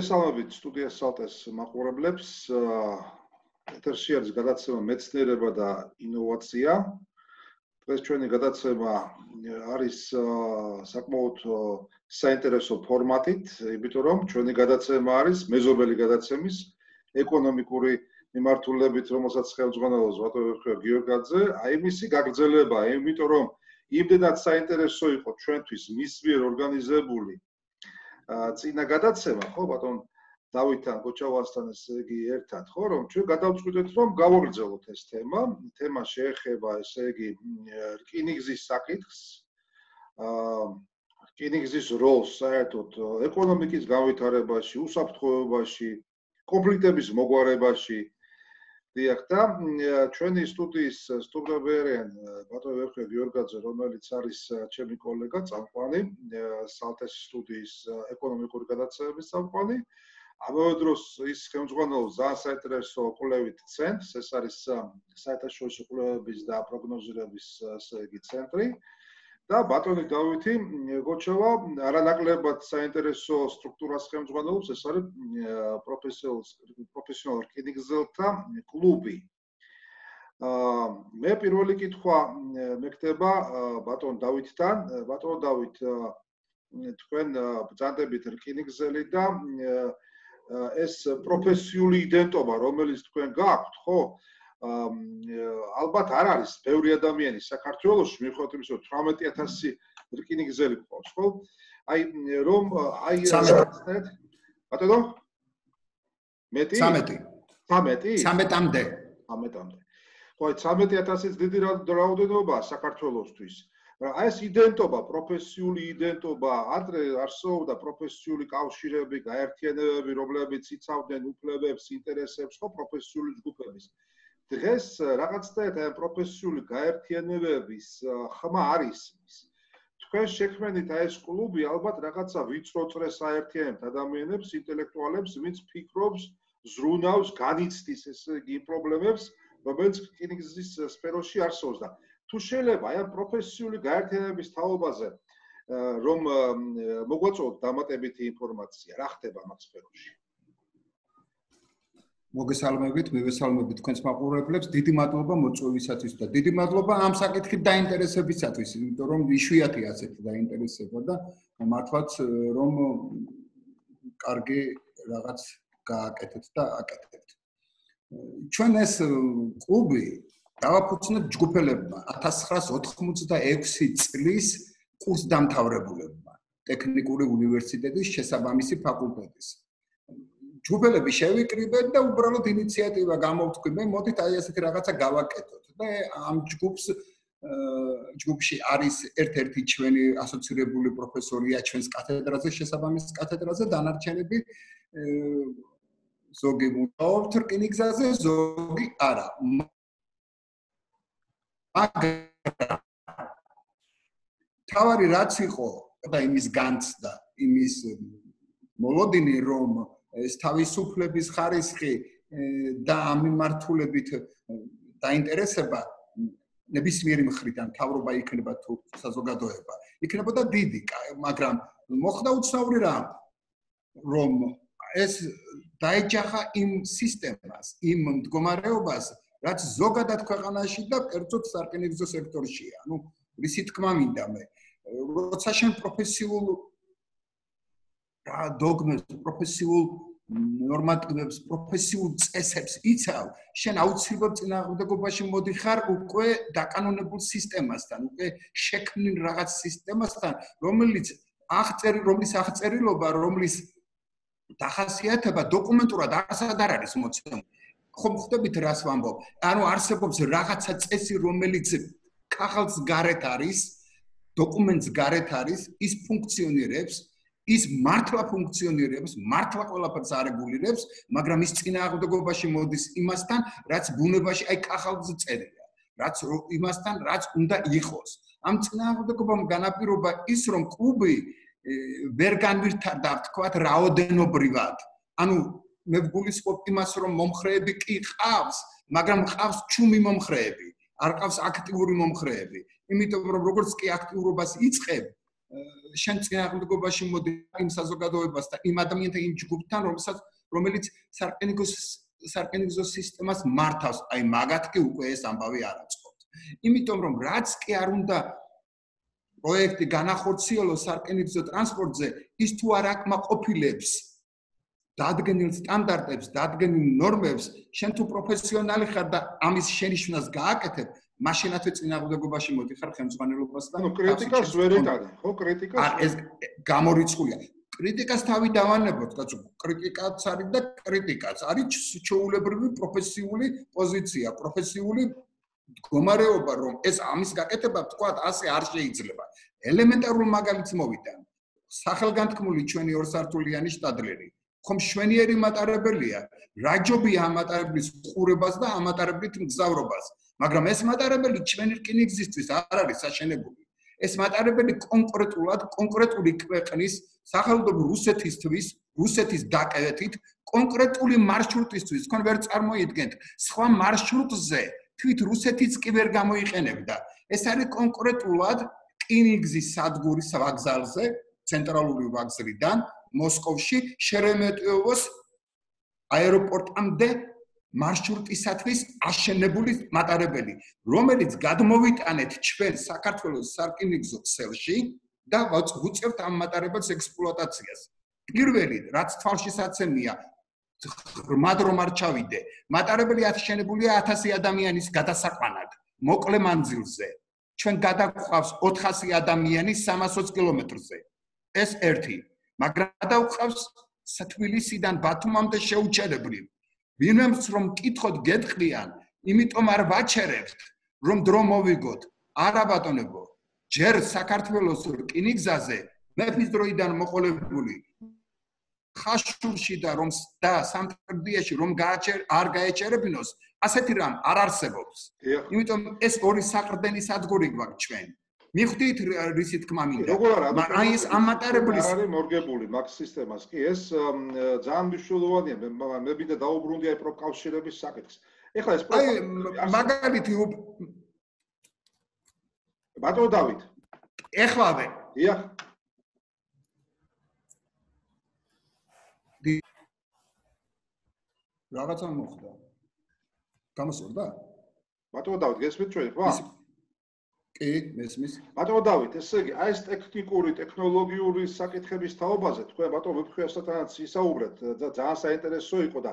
მოგესალმებით სტუდიას სალტეს მაყურებლებს. ეთერში არის გადაცემა მეცნიერება და ინოვაცია. დღეს ჩვენი გადაცემა არის საკმაოდ საინტერესო ფორმატით, იმიტომ რომ ჩვენი გადაცემა არის მეზობელი გადაცემის ეკონომიკური მიმართულებით, რომელსაც ხელმძღვანელობს ბატონი გიორგაძე. აი მისი გაგრძელება, იმიტომ რომ იმდენად საინტერესო იყო ჩვენთვის მის მიერ ორგანიზებული წინა გადაცემა, ხო, ბატონ დავითთან, გოჩავასთან ესე იგი ერთად, ხო, რომ ჩვენ გადავწყვიტეთ, რომ გავაგრძელოთ ეს თემა. თემა შეეხება, ესე იგი, რკინიგზის საკითხს, რკინიგზის როლს საერთოდ ეკონომიკის განვითარებაში, უსაფრთხოებაში, კონფლიქტების მოგვარებაში. დიახ, და ჩვენი სტუდიის სტუმრები არიან ბატონი ვერხე გიორგაძე, რომელიც არის ჩემი კოლეგა, წამყვანი, სალტეს სტუდიის ეკონომიკური გადაცემების წამყვანი. ამავე დროს ის ხელმძღვანელობს ძალიან საინტერესო კვლევით ცენტრს, ეს არის საერთაშორისო კვლევების და პროგნოზირების ესე იგი ცენტრი. და ბატონი დავითი გოჩავა არანაკლებად საინტერესო სტრუქტურას ხელმძღვანელობს, ეს არის პროფესიონალ რკინიგზელთა კლუბი. მე პირველი კითხვა მექნება ბატონ დავითთან. ბატონ დავით, თქვენ ბრძანდებით რკინიგზელი და ეს პროფესიული იდენტობა, რომელიც თქვენ გაქვთ, ხო? ალბათ არ არის ბევრი ადამიანი საქართველოში, მიუხედავად იმისა, რომ 18000 რკინიგზელი ყავს, ხო? აი რომ აი რაღაცნაირად ბატონო? მეტი? 13? 13-მდე. 13-მდე. ხო, აი 13000-იც დიდი რაოდენობა საქართველოსთვის. აი ეს იდენტობა, პროფესიული იდენტობა, ადრე არსებობდა პროფესიული კავშირები, გაერთიანებები, რომლებიც იცავდნენ უფლებებს, ინტერესებს, ხო, პროფესიული ჯგუფების. დღეს რაღაცნაირად აი პროფესიული გაერთიანებების ხმა არის ის. თქვენ შექმნით აი ეს კლუბი ალბათ რაღაცა ვიწრო წრეს აერთიანებთ ადამიანებს, ინტელექტუალებს, ვინც ფიქრობს, ზრუნავს, განიცდის ესე იგი პრობლემებს, რომელიც რკინიგზის სფეროში არსებობს და თუ შეიძლება აი ამ პროფესიული გაერთიანების თაობაზე რომ მოგვაწოდოთ დამატებითი ინფორმაცია, რა ხდება ამ სფეროში? მოგესალმებით, მივესალმებით თქვენს მაყურებლებს. დიდი მადლობა მოწვევისათვის და დიდი მადლობა ამ საკითხით დაინტერესებისათვის, იმიტომ რომ იშვიათი ასეთი დაინტერესება და მართლაც რომ კარგი რაღაც გააკეთეთ და აკეთებთ. ჩვენ ეს კლუბი დავაფუძნეთ ჯგუფელებმა 1986 წლის კურსდამთავრებულებმა ტექნიკური უნივერსიტეტის შესაბამისი ფაკულტეტის. ჯგუფელები შევიკრიბეთ და უბრალოდ ინიციატივა გამოვთქვი, მე მოდით აი ასეთი რაღაცა გავაკეთოთ და ამ ჯგუფში არის ერთ-ერთი ჩვენი ასოცირებული პროფესორია ჩვენს კათედრაზე, შესაბამის კათედრაზე, დანარჩენები ზოგი მუშაობთ რკინიგზაზე, ზოგი არა. მაგრამ თავარი რაც იყო და იმის განცდა, იმის მოლოდინი რომ ეს თავისუფლების ხარისხი და ამ მიმართულებით დაინტერესება ნებისმიერი მხრიდან თავრობა იქნება თუ საზოგადოება იქნებოდა დიდი, მაგრამ მოხდა უცნაური რამ, რომ ეს დაეჯახა იმ სისტემას, იმ მდგომარეობას, რაც ზოგადად ქვეყანაში და კერძოდ სარკინიგზო სექტორშია. ანუ რისი თქმა მინდა მე, როცა შენ პროფესიულ დოგმებს, პროფესიულ ნორმატივებს, პროფესიულ წესებს იცავ, შენ აუცილებლად წინააღმდეგობაში მოდიხარ უკვე დაკანონებულ სისტემასთან, უკვე შექმნილ რაღაც სისტემასთან, რომლის აღწერილობა, რომლის დახასიათება დოკუმენტურად არსად არ არის მოცემული. ხომ ხვდებით რას ვამბობ? ანუ არსებობს რაღაცა წესი, რომელიც ქაღალდს გარეთ არის, დოკუმენტს გარეთ არის, ის ფუნქციონირებს, ის მართლა ფუნქციონირებს, მართლა ყველაფერს არეგულირებს, მაგრამ ის წინააღმდეგობაში მოდის იმასთან, რაც ბუნებაში აი ქაღალდზე წერია, რაც იმასთან, რაც უნდა იყოს. ამ წინააღმდეგობამ განაპირობა ის, რომ კლუბი ვერ განვითარდა, თქვათ, რაოდენობრივად. ანუ მე ვგულისხმობ იმას, რომ მომხრეები კი ყავს, მაგრამ ყავს ჩუმი მომხრეები, არ ყავს აქტიური მომხრეები. იმიტომ რომ როგორც კი აქტიურობას იწყებ, შენ წინააღმდეგობაში მოდი იმ საზოგადოებას და იმ ადამიანთა იმ ჯგუფთან, რომელიც სარკინიგზო სისტემას მართავს, აი მაგათ კი უკვე ეს ამბავი არ აწყობთ. იმიტომ რომ რაც კი არ უნდა პროექტი განახორციელოს სარკინიგზო ტრანსპორტზე, ის თუ არ აკმაყოფილებს დადგენილ სტანდარტებს, დადგენილ ნორმებს, შენ თუ პროფესიონალი ხარ და ამის შენიშვნას გააკეთებ, მაშინათვე წინააღმდეგობაში მოდიხარ ხელმძღვანელობას და კრიტიკას ვერ ეტანე, ხო, კრიტიკას ეს გამორიცხულია. კრიტიკას თავი დავანებოთ, კაცო, კრიტიკაც არის და კრიტიკაც არის ჩვეულებრივი პროფესიული პოზიცია, პროფესიული მდგომარეობა, რომ ეს ამის გაკეთება თქვა ასე არ შეიძლება. ელემენტარულ მაგალითს მოვიტან. სახელგანთქმული ჩვენი ორსართულიანი შტადლერი. ხომ შვენიერი მატარებელია, რაჯობია ამ მატარებლის ყურებას და ამ მატარებლით მგზავრობას, მაგრამ ეს მატარებელი ჩვენი რკინიგზისთვის არ არის საშენებული. ეს მატარებელი კონკრეტული ქვეყნის სახელმწიფო რუსეთისთვის, რუსეთის დაკავებით კონკრეტული მარშრუტისთვის, თქვენ ვერ წარმოიდგენთ, სხვა მარშრუტზე თვით რუსეთიც კი ვერ გამოიყენებდა. ეს არის კონკრეტულად რკინიგზის სადგურის ვაგზალზე, ცენტრალური ვაგზლიდან მოსკოვში შერემეტიევოს აეროპორტამდე მარშრუტისათვის აშენებული მატარებელი, რომელიც გადმოვიტანეთ ჩვენ საქართველოს სარკინიგზო ქსელში და ვუწევთ ამ მატარებელს ექსპლუატაციას. პირველი, რაც თვალშისაცემია, ღრმად რომ არ ჩავიდე, მატარებელი აშენებულია 1000 ადამიანის გადასაყვანად, მოკლე მანძილზე. ჩვენ გადაგყავს 400 ადამიანი 320 კილომეტრზე. ეს ერთი, მაგრამ გადავყავს თბილისიდან ბათუმამდე შეუჩერებლივ. ვინმეს რომ მკითხოთ გეტყვიან, იმიტომ არ ვაჩერებთ, რომ დრო მოვიგოთ. არა ბატონებო, ჯერ საქართველოს რკინიგზაზე მეფის დროიდან მოყოლებული ხაშურში და რომ და სამტრედიაში რომ არ გაეჩერებინოს, ასეთი რამ არ არსებობს. იმიტომ ეს ორი საყრდენი სადგური გვაქვს ჩვენ. მიხვდით რისი თქმა მინდა. აი ეს ამატარებლის არის მორგებული მაგ სისტემას კი ეს ძალიან მნიშვნელოვანია. მე მინდა დაუბრუნდი აი პროფკავშირების საკითხს. ეხლა ეს მაგალითი ბატონო დავით. ეხლავე. დიახ. რაღაცა მოხდა. გამოსურდა? ბატონო დავით, გესმით ჩვენ ხო? კი, მესმის. ბატონო დავით, ესე იგი, აი ეს ტექნიკური, ტექნოლოგიური საკითხების თაობაზე თქვენ ბატონო ვიფხვიასათანაც ისაუბრეთ და ძალიან საინტერესო იყო და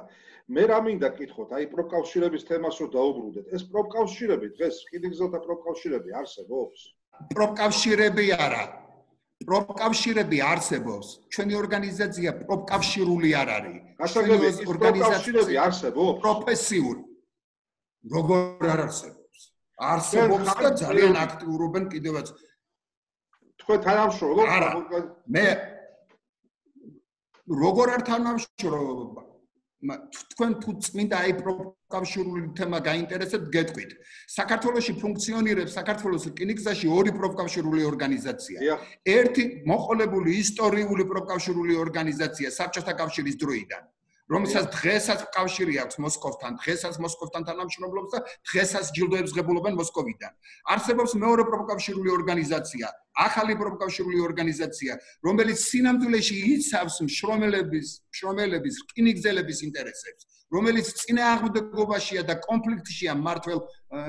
მე რა მინდა კითხოთ, აი პროფკავშირების თემას რო დაუბრუნდეთ. ეს პროფკავშირები დღეს რკინიგზელთა პროფკავშირები არსებობს? პროფკავშირები არა. პროფკავშირები არსებობს. ჩვენი ორგანიზაცია პროფკავშირული არ არის. ჩვენი ორგანიზაციები არსებობს? პროფესიული. როგორ არ არსებობს? არსებობს და ძალიან აქტიურობენ კიდევაც. თქვენ თანამშრომლობთ? მე როგორ არ თანამშრომლობ? თქვენ თუ წმინდა აი პროფკავშირული თემა გაინტერესებთ, გეტყვით. საქართველოში ფუნქციონირებს საქართველოს რკინიგზაში ორი პროფკავშირული ორგანიზაცია. ერთი მოყოლებული ისტორიული პროფკავშირული ორგანიზაცია საბჭოთა კავშირის დროიდან. რომელსაც დღესაც კავშირი აქვს მოსკოვთან, დღესაც მოსკოვთან თანამშრომლობს და დღესაც ჯილდოებს ღებულობენ მოსკოვიდან. არსებობს მეორე პროფკავშირული ორგანიზაცია, ახალი პროფკავშირული ორგანიზაცია, რომელიც სინამდვილეში იცავს მშრომელების, რკინიგზელების ინტერესებს, რომელიც წინააღმდეგობაშია და კონფლიქტშია მმართველ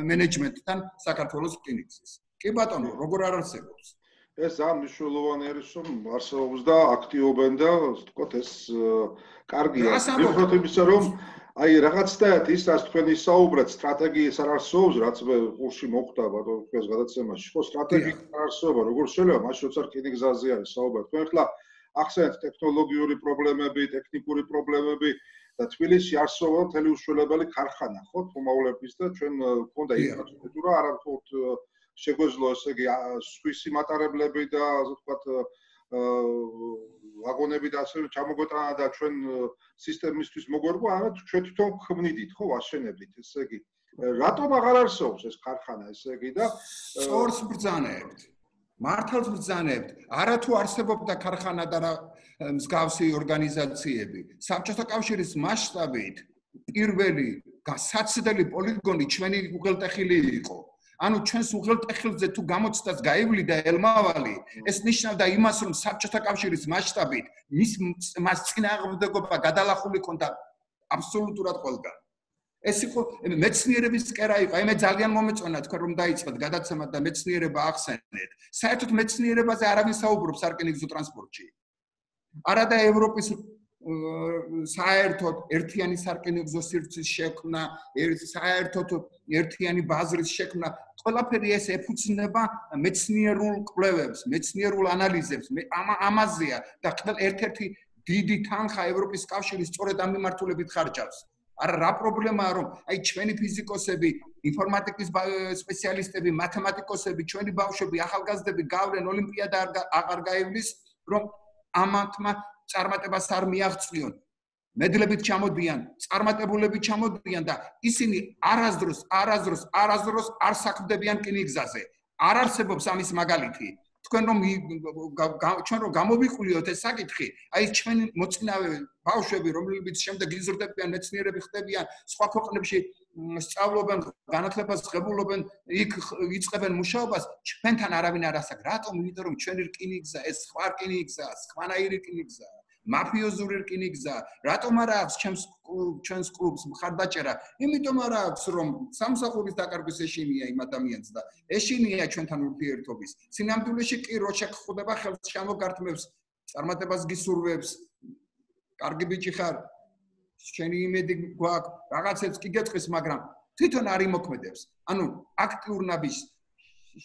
მენეჯმენტთან საქართველოს რკინიგზის. კი ბატონო, როგორ არ არსებობს? ეს ძალიან მნიშვნელოვანი არის, რომ არსებობს და აქტიობენ და ვთქვათ ეს კარგია. მიუხედავად იმისა, რომ აი რაღაცნაირად ის რაც თქვენ ისაუბრეთ, სტრატეგიის არ არსებობს, რაც მე კურსში მოხდა ბატონო თქვენს გადაცემაში. ხო, სტრატეგია არ არსებობა, როგორ შეიძლება მაშინ როცა რკინიგზაზე არის საუბარი. თქვენ ახლა ახსენეთ ტექნოლოგიური პრობლემები, ტექნიკური პრობლემები და თბილისში არსებობა მთელი უშველებელი ქარხანა, ხო, თუმაულების და ჩვენ გვქონდა ინფრასტრუქტურა, არა მხოლოდ შეგვეძლო ესე იგი სვისი მატარებლები და ასე ვთქვათ ვაგონები და ასე ჩამოგვეტანა და ჩვენ სისტემისთვის მოგვერგო, ამათ ჩვენ თვითონ ქმნიდით, ხო, ვაშენებდით, ესე იგი რატომ აღარ არსებობს ეს ქარხანა, ესე იგი და სწორს ბრძანებთ. მართალს ბრძანებთ. არა თუ არსებობდა ქარხანა და მსგავსი ორგანიზაციები. საბჭოთა კავშირის მასშტაბით პირველი გასაცდელი პოლიგონი ჩვენი უღელტეხილი იყო. ანუ ჩვენს უღელტეხილზე თუ გამოცდას გაივლიდა ელმავალი, ეს ნიშნავდა იმას, რომ საბჭოთა კავშირის მასშტაბით მას წინააღმდეგობა გადალახული ქონდა აბსოლუტურად ყველგან. ეს იყო მეცნიერების კერა იყო. მე ძალიან მომეწონა თქვენ რომ დაიწყეთ გადაცემა და მეცნიერება ახსენეთ. საერთოდ მეცნიერებაზე არავინ საუბრობს სარკინიგზო ტრანსპორტში. არა და ევროპის საერთოდ ერთიანი სარკინიგზო სივრცის შექმნა, საერთოდ ერთიანი ბაზრის შექმნა, ყველაფერი ეს ეფუძნება მეცნიერულ კვლევებს, მეცნიერულ ანალიზებს. ამაზეა და ერთ-ერთი დიდი თანხა ევროპის კავშირის სწორედ ამ მიმართულებით ხარჯავს. არა რა პრობლემაა რომ აი ჩვენი ფიზიკოსები, ინფორმატიკის სპეციალისტები, მათემატიკოსები, ჩვენი ბავშვები, ახალგაზრდები გავლენ ოლიმპიადა აღარ გაივლის, რომ ამათმა წარმატებას არ მიაღწიონ. მედლებით ჩამოდიან, წარმატებულები ჩამოდიან და ისინი არასდროს არ საქმდებიან რკინიგზაზე. არ არსებობს ამის მაგალითი. თქვენ რომ გამოვიყურიოთ ეს საკითხი, აი ჩვენი მოწინავე ბავშვები, რომლებიც შემდეგ იზრდებიან, მეცნიერები ხდებიან, სხვა ქვეყნებში სწავლობენ, განათლებას ღებულობენ, იქ იწყებენ მუშაობას, ჩვენთან არავინ არ ასაკ. რატომ? იმიტომ რომ ჩვენი რკინიგზა, ეს სხვა რკინიგზაა, სხვანაირი რკინიგზაა, მაფიოზური რკინიგზაა. რატომ არ აქვს ჩვენს კლუბს მხარდაჭერა? იმიტომ არ აქვს, რომ სამსახურის დაკარგვის ეშინია იმ ადამიანს და ეშინია ჩვენთან ურთიერთობის. სინამდვილეში კი რო შეგხვდება ხელს ჩამოგართმევს, წარმატებას გისურვებს, კარგი ბიჭი ხარ, შენი იმედი გვაქვს, რაღაცებს კი გეტყვის, მაგრამ თვითონ არ იმოქმედებს. ანუ აქტიურ ნაბიჯს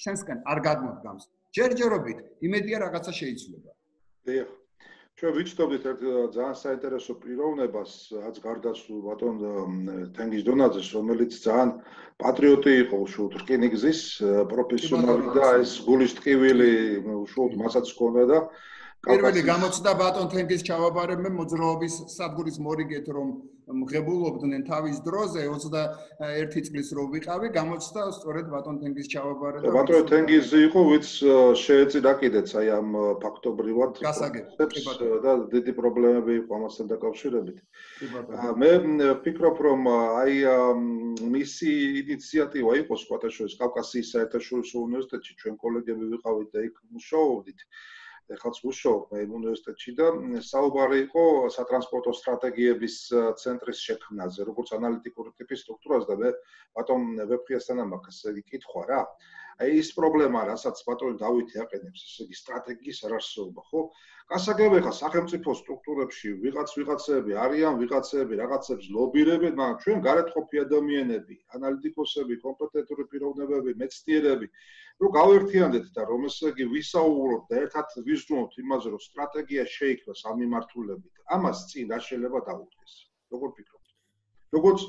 შენსგან არ გადმოდგამს. ჯერჯერობით იმედია რაღაცა შეიძლება. დიახ. ჩვენ ვიცნობთ ერთ ძალიან საინტერესო პიროვნებას, რაც გარდაცვლილ ბატონ თენგიზ დონაძეს, რომელიც ძალიან პატრიოტი იყო უშუალოდ რკინიგზის პროფესიონალი და ეს გულის ტკივილი უშუალოდ მასაც ჰქონდა და პირველი გამოცდა ბატონ თენგიზ ჩავაბარებმე მოძრაობის სადგურის მორიგეთ რომ მღებულობდნენ თავის დროზე 21 წლის რო ვიყავი გამოცდა სწორედ ბატონ თენგიზ ჩავაბარე და ბატონ თენგიზი იყო ვიც შეეწირა კიდეც აი ამ ფაქტობრივად და დიდი პრობლემები იყო ამასთან დაკავშირებით. მე ვფიქრობ რომ აი მისი ინიციატივა იყო სხვათაშორის კავკასიის საერთაშორისო უნივერსიტეტში ჩვენ კოლეგები ვიყავით და იქ მუშაობდით. ეხლა ვუშაობ მე უნივერსიტეტში და საუბარი იყო სატრანსპორტო სტრატეგიების ცენტრის შექმნაზე, როგორც ანალიტიკური ტიპის სტრუქტურას და მე ბატონ ვეფხიასთან ამაქვს ესე იგი კითხვა რა. აი ის პრობლემა, რასაც ბატონი დავითი აყენებს, ესე იგი სტრატეგიის არარსებობა, ხო? გასაგებია ხა სახელმწიფო სტრუქტურებში ვიღაცები არიან, ვიღაცები რაღაცებს ლობირებენ, მაგრამ ჩვენ გარეთ ყოფი ადამიანები, ანალიტიკოსები, კომპეტენტური პიროვნებები, მეცნიერები რომ გავერთიანდეთ და რომ ესე იგი ვისაუბროთ და ერთად ვიზრუნოთ იმაზე, რომ სტრატეგია შეიქმნას ამ მიმართულებით. ამას წინ რა შეიძლება დაუდგეს? როგორ ფიქრობთ? როგორც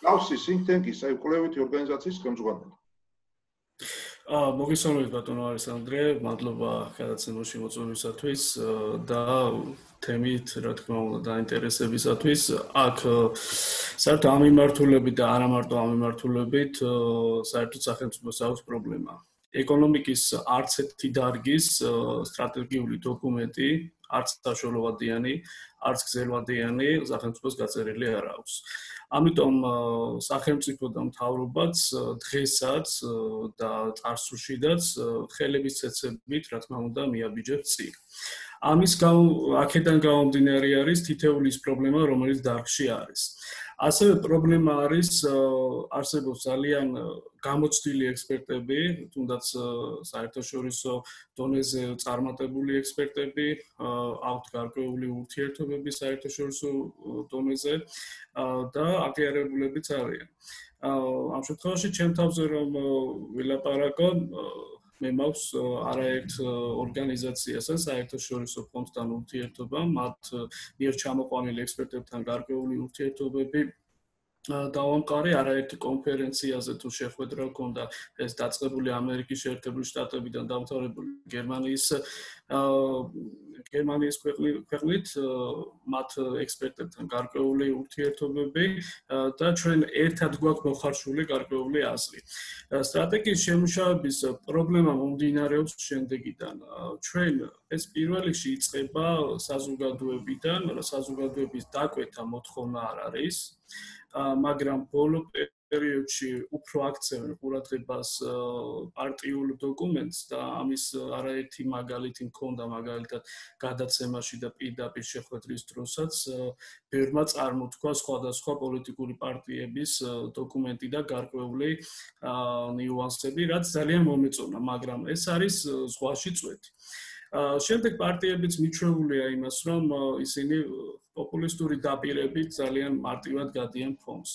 გავს think tank-ის, აი კვლევითი ორგანიზაციის ხელმძღვანელი. მოგესალმებით ბატონო ალესანდრე, მადლობა გადაცემაში მოწვევისათვის და თემით, რა თქმა უნდა, დაინტერესებისათვის. აქ საერთოდ ამ მიმართულებით და არა მარტო ამ მიმართულებით, საერთოდ სახელმწიფოს აქვს პრობლემა. ეკონომიკის არც ერთი დარგის სტრატეგიული დოკუმენტი, არც საშუალებიანი, არც გზელვადიანი სახელმწიფოს გაწერილი არ აქვს. ამიტომ სახელმწიფო და მთავრობაც დღესაც და წარსულშიდაც ხელების ცეცებით, რა თქმა უნდა, მიაბიჯებს წინ. ამის აქედან გამომდინარე არის თითეული ის პრობლემა, რომელიც დარგში არის. ასევე პრობლემა არის არსებობს ძალიან გამოცდილი ექსპერტები, თუნდაც საერთაშორისო დონეზე წარმატებული ექსპერტები, აქვთ გარკვეული ურთიერთობები საერთაშორისო დონეზე და აღიარებულებიც არიან. ამ შემთხვევაში ჩემ თავზე რომ ვილაპარაკო, მე მაქვს არაერთ ორგანიზაციასთან საერთაშორისო ფონდთან ურთიერთობა, მათ მიერ ჩამოყვანილი ექსპერტებთან გარკვეული ურთიერთობები დავამყარე არაერთი კონფერენციაზე თუ შეხვედრა ჰქონდა ეს დაწყებული ამერიკის შეერთებული შტატებიდან დამთავრებული გერმანიის ქვეყნით მათ ექსპერტებთან გარკვეული ურთიერთობები და ჩვენ ერთად გვაქვს მოხარშული გარკვეული აზრი. სტრატეგიის შემუშავების პრობლემა მომდინარეობს შემდეგიდან. ჩვენ ეს პირველ რიგში იწყება საზოგადოებიდან, საზოგადოების დაკვეთა მოთხოვნა არ არის. მაგრამ ბოლო პერიოდში უფრო აქცევენ ყურადღებას პარტიულ დოკუმენტს და ამის არაერთი მაგალითი მქონდა მაგალითად გადაცემაში და პირდაპირ შეხვედრის დროსაც ბევრმა წარმოთქვა სხვადასხვა პოლიტიკური პარტიების დოკუმენტი და გარკვეული ნიუანსები, რაც ძალიან მომეწონა, მაგრამ ეს არის ზღვაში წვეთი. შემდეგ პარტიებიც მიჩვეულია იმას, რომ ისინი პოპულისტური დაპირებით ძალიან მარტივად გადიან ფონს.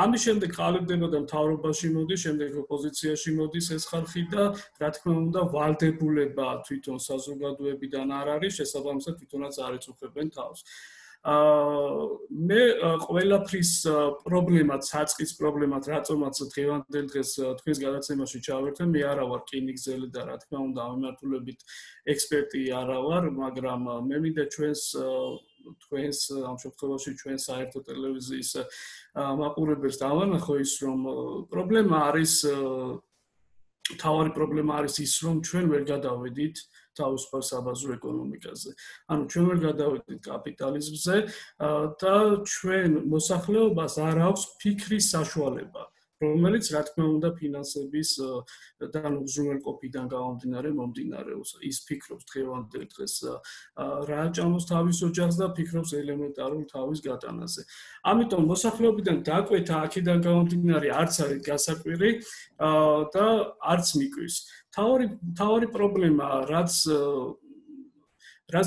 ამის შემდეგ ყალიბდება და მთავრობაში მოდის, შემდეგ ოპოზიციაში მოდის ეს ხალხი და რა თქმა უნდა ვალდებულება თვითონ საზოგადოებიდან არ არის, შესაბამისად თვითონაც არ ეწუხებენ თავს. მე ყველაფრის პრობლემად, საწყის პრობლემად, რატომაც დღევანდელ დღეს თქვენს გადაცემაში ჩავერთვე, მე არა ვარ რკინიგზელი და რა თქმა უნდა ამ მიმართულებით ექსპერტი არა ვარ, მაგრამ მე მინდა თქვენს ამ შემთხვევაში ჩვენ საერთო ტელევიზიის მაყურებელს დავანახო ის, რომ პრობლემა არის მთავარი პრობლემა არის ის, რომ ჩვენ ვერ გადავედით თავისუფალ საბაზრო ეკონომიკაზე. ანუ ჩვენ ვერ გადავედით კაპიტალიზმზე და ჩვენ მოსახლეობას არ აქვს ფიქრის საშუალება, რომელიც რა თქმა უნდა ფინანსების და უზრუნველყოფიდან გამომდინარე მომდინარეობს. ის ფიქრობს დღევანდელ დღეს რა ჭამოს თავის ოჯახს და ფიქრობს ელემენტარულ თავის გატანაზე. ამიტომ მოსახლეობიდან დაკვეთა აქედან გამომდინარე არც არის გასაკვირი და არც მიკვის. თავარი პრობლემა, რაც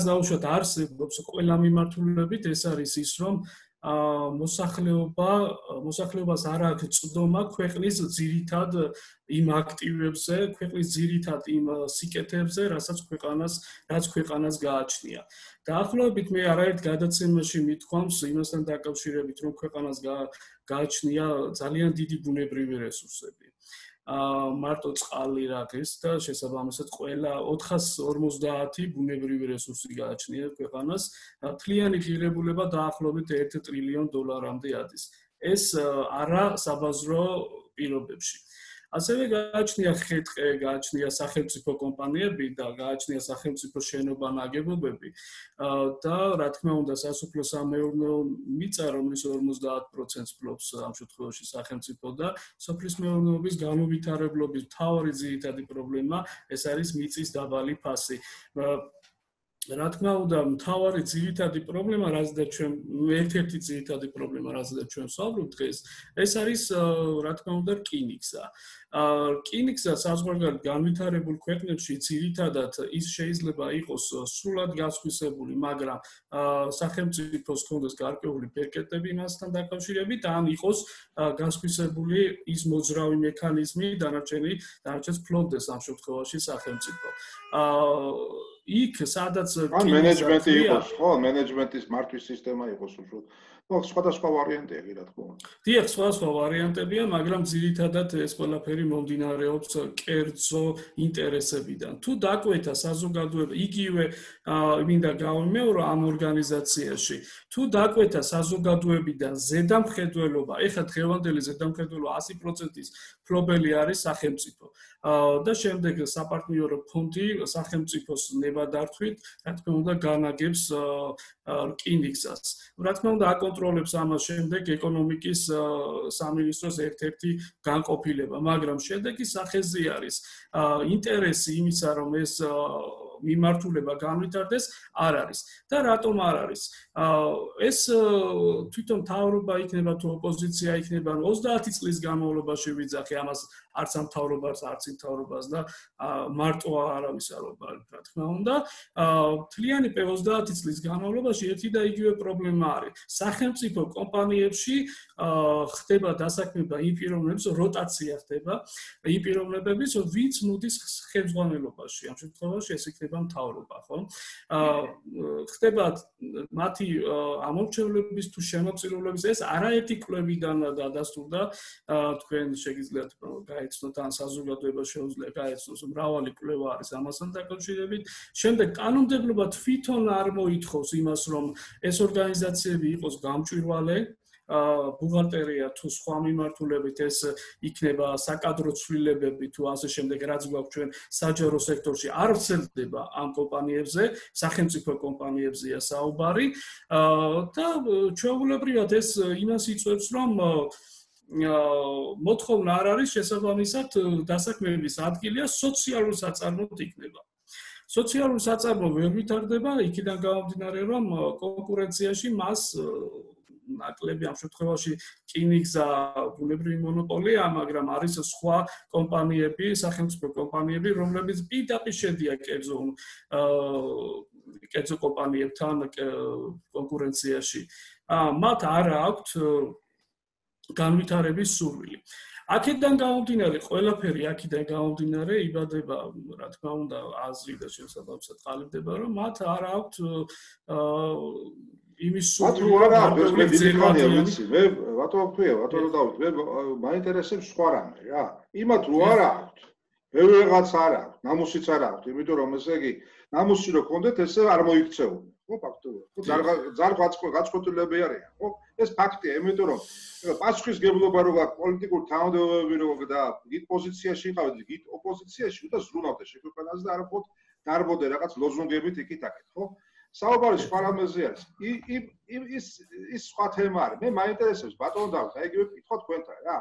დაუშვათ არსებობს ყველა მიმართულებით, ეს არის ის, რომ მოსახლეობას არ აქვს წვდომა ქვეყნის ძირითად იმ აქტივებზე, ქვეყნის ძირითად იმ სიკეთებზე, რაც ქვეყანას გააჩნია. დაახლოებით მე არაერთ გადაცემაში მithქვამს იმასთან დაკავშირებით, რომ ქვეყანას გააჩნია ძალიან დიდი ბუნებრივი რესურსები. მარტო წყალი რაგეს და შესაბამისად ყველა 450 ბუნებრივი რესურსი გააჩნია ქვეყანას, მთლიანი ღირებულება დაახლოებით $1 ტრილიონამდე ადის. ეს არა საბაზრო პირობებში. ასევე გააჩნია ხეთყე, გააჩნია სახელმწიფო კომპანიები და გააჩნია სახელმწიფო შენობა-ნაგებობები და რა თქმა უნდა სასოფლო-სამეურნეო მიწა, რომლის 50%-ს ფლობს ამ შემთხვევაში სახელმწიფო და სოფლის მეურნეობის განუვითარებლობის მთავარი ძირითადი პრობლემა ეს არის მიწის დაბალი ფასი. რა თქმა უნდა, მთავარი ძირითადი პრობლემა, რაზეც ჩვენ ერთ-ერთი ძირითადი პრობლემა, რაზეც ჩვენ ვსაუბრობთ დღეს, ეს არის რა თქმა უნდა რკინიგზა. რკინიგზა საზღვარგარეთ განვითარებულ ქვეყნებში ძირითადად ის შეიძლება იყოს სრულად გასხვისებული, მაგრამ სახელმწიფოს ჰქონდეს გარკვეული ბერკეტები მასთან დაკავშირებით, ან იყოს გასხვისებული ის მოძრავი მექანიზმი, დანარჩენს ფლობდეს ამ შემთხვევაში სახელმწიფო. იქ სადაც მენეჯმენტი იყოს, ხო, მენეჯმენტის მართვის სისტემა იყოს უშუალოდ. ხო, სხვადასხვა ვარიანტია კი რა თქმა უნდა. დიახ, სხვადასხვა ვარიანტებია, მაგრამ ძირითადად ეს ყველაფერი მომდინარეობს კერძო ინტერესებიდან. თუ დაკვეთა საზოგადოება, იგივე მინდა გავიმეორო ამ ორგანიზაციაში, თუ დაკვეთა საზოგადოებიდან ზედამხედველობა, ეხლა დღევანდელი ზედამხედველობა 100%-ის ფლობელი არის სახელმწიფო. და შემდეგ საპარტნიორო ფონდი სახელმწიფოს ნებადართვით, რა თქმა უნდა, განაგებს რკინიგზას. რა თქმა უნდა, აკონტროლებს ამას შემდეგ ეკონომიკის სამინისტროს ერთ-ერთი განყოფილება, მაგრამ შედეგი სახეზე არის. ინტერესი იმისა, რომ ეს მიმართულება განვითარდეს, არ არის. და რატომ არ არის? ეს თვითონ მთავრობა იქნება თუ ოპოზიცია იქნება 30 წლის განმავლობაში ვიძახე ამას არც ამ მთავრობას, არც იმ მთავრობას და მარტო არავის არ ვარ, რა თქმა უნდა. მთლიანი 30 წლის განმავლობაში ერთი და იგივე პრობლემა არის. სახელმწიფო კომპანიებში ხდება დასაქმება იმ პიროვნების როტაცია ხდება, იმ პიროვნებების, ვინც მოდის ხელმძღვანელობაში. ამ შემთხვევაში ეს იქნება მთავრობა, ხო? ხდება მათი ამორჩევლების თუ შემოწირულობის ეს არაერთი კვლევიდან დადასტურდა, თქვენ შეგიძლიათ გაეცნოთ ან საზოგადოება შეუძლია გაეცნოს, მრავალი კვლევა არის ამასთან დაკავშირებით. შემდეგ კანონმდებლობა თვითონ არ მოითხოვს იმას, რომ ეს ორგანიზაციები იყოს გამჭვირვალე, ბუღალტერია თუ სხვა მიმართულებით ეს იქნება საკადრო ცვლილებები თუ ასე შემდეგ, რაც გვაქვს ჩვენ საჯარო სექტორში არ ვრცელდება ამ კომპანიებზე, სახელმწიფო კომპანიებზეა საუბარი და ჩვეულებრივად ეს იმას იწვევს, რომ მოთხოვნა არ არის შესაბამისად დასაქმების ადგილია სოციალურ საწარმოდ იქნება. სოციალურ საწარმო ვერ ვითარდება იქიდან გამომდინარე რომ კონკურენციაში მას ნაკლები ამ შემთხვევაში რკინიგზა ბუნებრივი მონოპოლია, მაგრამ არის სხვა კომპანიები, სახელმწიფო კომპანიები, რომლებიც პირდაპირ შედიან კერძო კომპანიებთან კონკურენციაში. მათ არ აქვთ განვითარების სურვილი. აქედან გამომდინარე, ყველაფერი აქედან გამომდინარე იბადება, რა თქმა უნდა, აზრი და შესაბამისად ყალიბდება, რომ მათ არ აქვთ იმის სურვილი, რომ მე ბატონო ქვია, ბატონო დავით, მე მაინტერესებს სხვა რამე რა. იმათ რო არ აქვთ, ვეღაც არ აქვთ, ნამუსიც არ აქვთ, იმიტომ რომ ესე იგი, ნამუსი რო გქონდეთ, ესე არ მოიქცეულთ. ხო, ფაქტობრივად. ხო, გაწყვეტილები არიან, ხო? ეს ფაქტია, იმიტომ რომ პასუხისგებლობა რო გაქვს პოლიტიკური თანამდებობები რო და გით პოზიციაში იყავით, გით ოპოზიციაში და ზრუნავდე შეგვეყანაზე და არ ვქოთ დარბოდე რაღაც ლოზუნგებით იქით-აქეთ, ხო? საუბარი სხვა რამეზე არის. ის სხვა თემა არის. მე მაინტერესებს ბატონო დავით, აი იგივე კითხვა თქვენთან რა.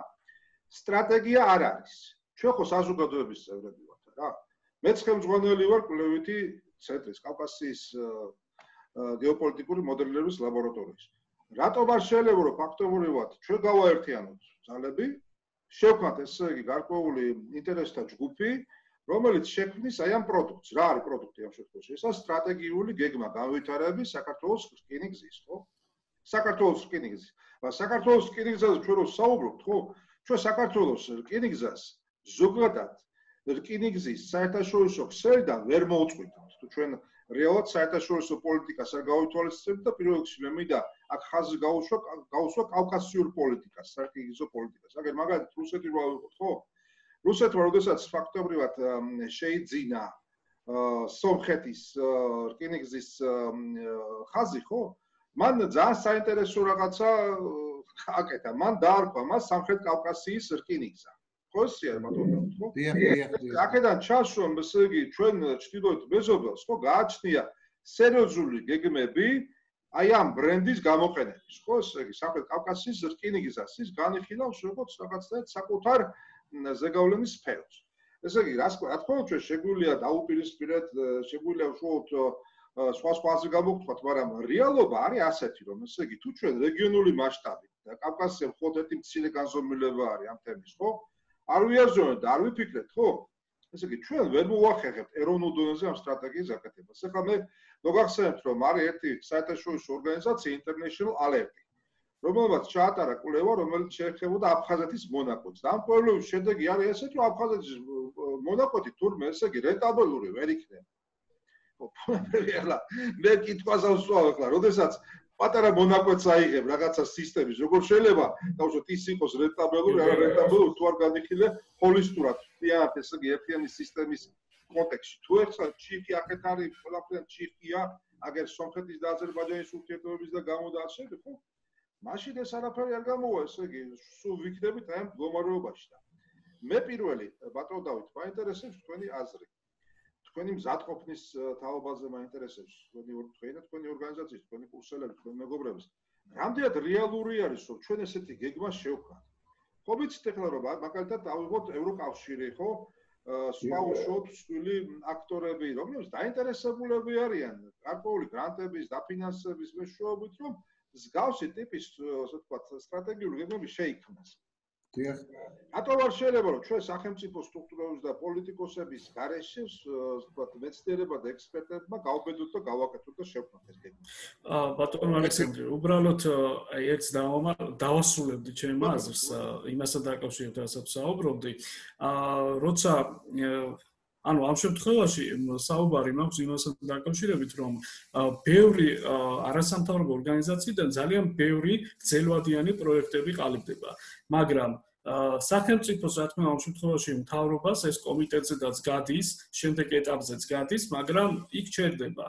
სტრატეგია არ არის. ჩვენ ხო საზოგადოების წევრები ვართ რა. მეც ხელმძღვანელი ვარ კვლევითი ცენტრის კავკასიის გეოპოლიტიკური მოდელირების ლაბორატორიის. რატომ არ შეიძლება რომ ფაქტობრივად ჩვენ გავაერთიანოთ ძალები, შევქმნათ ესე იგი გარკვეული ინტერესთა ჯგუფი, რომელიც შექმნის აი ამ პროდუქტს. რა არის პროდუქტი ამ შემთხვევაში? ეს სტრატეგიული გეგმა განვითარების საქართველოს რკინიგზის, ხო? საქართველოს რკინიგზის. საქართველოს რკინიგზაზე ჩვენ რო საუბრობთ, ხო? ჩვენ საქართველოს რკინიგზას ზოგადად რკინიგზის საერთაშორისო ქსელიდან ვერ მოუწყვეტავთ. თუ ჩვენ რეალურად საერთაშორისო პოლიტიკას არ გავითვალისწინებთ და პირველ რიგში მე მინდა აქ ხაზი გაუსვა კავკასიურ პოლიტიკას, საერთაშორისო პოლიტიკას. აგერ მაგალითად რუსეთი რო ავიღოთ, ხო? რუსეთმა როდესაც ფაქტობრივად შეიძინა სომხეთის რკინიგზის ხაზი, ხო? მან ძალიან საინტერესო რაღაცა აკეთა. მან დაარქვა მას სამხრეთ კავკასიის რკინიგზა. ხო, ისე არის ბატონო, ხო? აქედან ჩანს რომ ესე იგი ჩვენ ჩრდილოეთ მეზობელს ხო გააჩნია სერიოზული გეგმები აი ამ ბრენდის გამოყენების, ხო? ესე იგი სამხრეთ კავკასიის რკინიგზას ის განიხილავს როგორც რაღაცნაირად საკუთარ ზეგავლენის სფეროს. ესე იგი, რა თქმა უნდა, ჩვენ შეგვიძლია დაუპირისპირდეთ, შეგვიძლია უშუალოდ სხვა აზრი გამოვთქვათ, მაგრამ რეალობა არის ასეთი, რომ ესე იგი, თუ ჩვენ რეგიონული მასშტაბით და კავკასია მხოლოდ ერთი მცირე განზომილება არის ამ თემის, ხო? არ ვიაზრებთ და არ ვიფიქრეთ, ხო? ესე იგი, ჩვენ ვერ მოვახერხებთ ეროვნულ დონეზე ამ სტრატეგიის გაკეთებას. ეხლა მე მოგახსენებთ, რომ არის ერთი საერთაშორისო ორგანიზაცია International Alert, რომელმაც ჩაატარა კვლევა, რომელიც შეეხებოდა აფხაზეთის მონაკვეთს. და ამ კვლევის შედეგი არის ესეთი, რომ აფხაზეთის მონაკვეთი თურმე ესე იგი რენტაბელური ვერ იქნება. ეხლა მე კითხვას ავსვავ ეხლა, როდესაც პატარა მონაკვეთს აიღებ რაღაცა სისტემის, როგორ შეიძლება დავუშვათ ის იყოს რენტაბელური, არა რენტაბელური, თუ არ განიხილე ჰოლისტურად, მთლიანად ესე იგი ერთიანი სისტემის კონტექსტში. თუ ერთხელ ჩიხი აქეთ არის, ყველაფერად ჩიხია, აგერ სომხეთის და აზერბაიჯანის ურთიერთობების და გამოდაშები, ხო? მაშინ ეს არაფერი არ გამოვა, ესე იგი, სულ ვიქნებით აი ამ მდგომარეობაში და მე პირველი ბატონო დავით, მაინტერესებს თქვენი აზრი. თქვენი მზადყოფნის თაობაზე მაინტერესებს, თქვენი ორგანიზაციის, თქვენი კურსელები, თქვენი მეგობრების. რამდენად რეალური არის, რომ ჩვენ ესეთი გეგმა შევქმნათ? ხო ვიცით ეხლა რომ მაგალითად ავიღოთ ევროკავშირი, ხო? სხვა უშუალოდ მსხვილი აქტორები, რომლებიც დაინტერესებულები არიან გარკვეული გრანტების, დაფინანსების მეშვეობით, რომ მსგავსი ტიპის, ასე ვთქვათ, სტრატეგიული გეგმები შეიქმნას. დიახ. რატომ არ შეიძლება რომ ჩვენ სახელმწიფო სტრუქტურების და პოლიტიკოსების გარეშე, ასე ვთქვათ, მეცნიერებმა და ექსპერტებმა გავბედოთ და გავაკეთოთ და შევქმნათ ეს გეგმა. ბატონო ალექსანდრე, უბრალოდ აი ერთს დავასრულებდი ჩემ აზრს, იმასთან დაკავშირებით, რასაც საუბრობდი. როცა ანუ ამ შემთხვევაში საუბარი მაქვს იმასთან დაკავშირებით, რომ ბევრი არასამთავრობო ორგანიზაციიდან ძალიან ბევრი გრძელვადიანი პროექტები ყალიბდება, მაგრამ სახელმწიფოს რა თქმა უნდა ამ შემთხვევაში მთავრობას ეს კომიტეტზედაც გადის, შემდეგ ეტაპზეც გადის, მაგრამ იქ ჩერდება.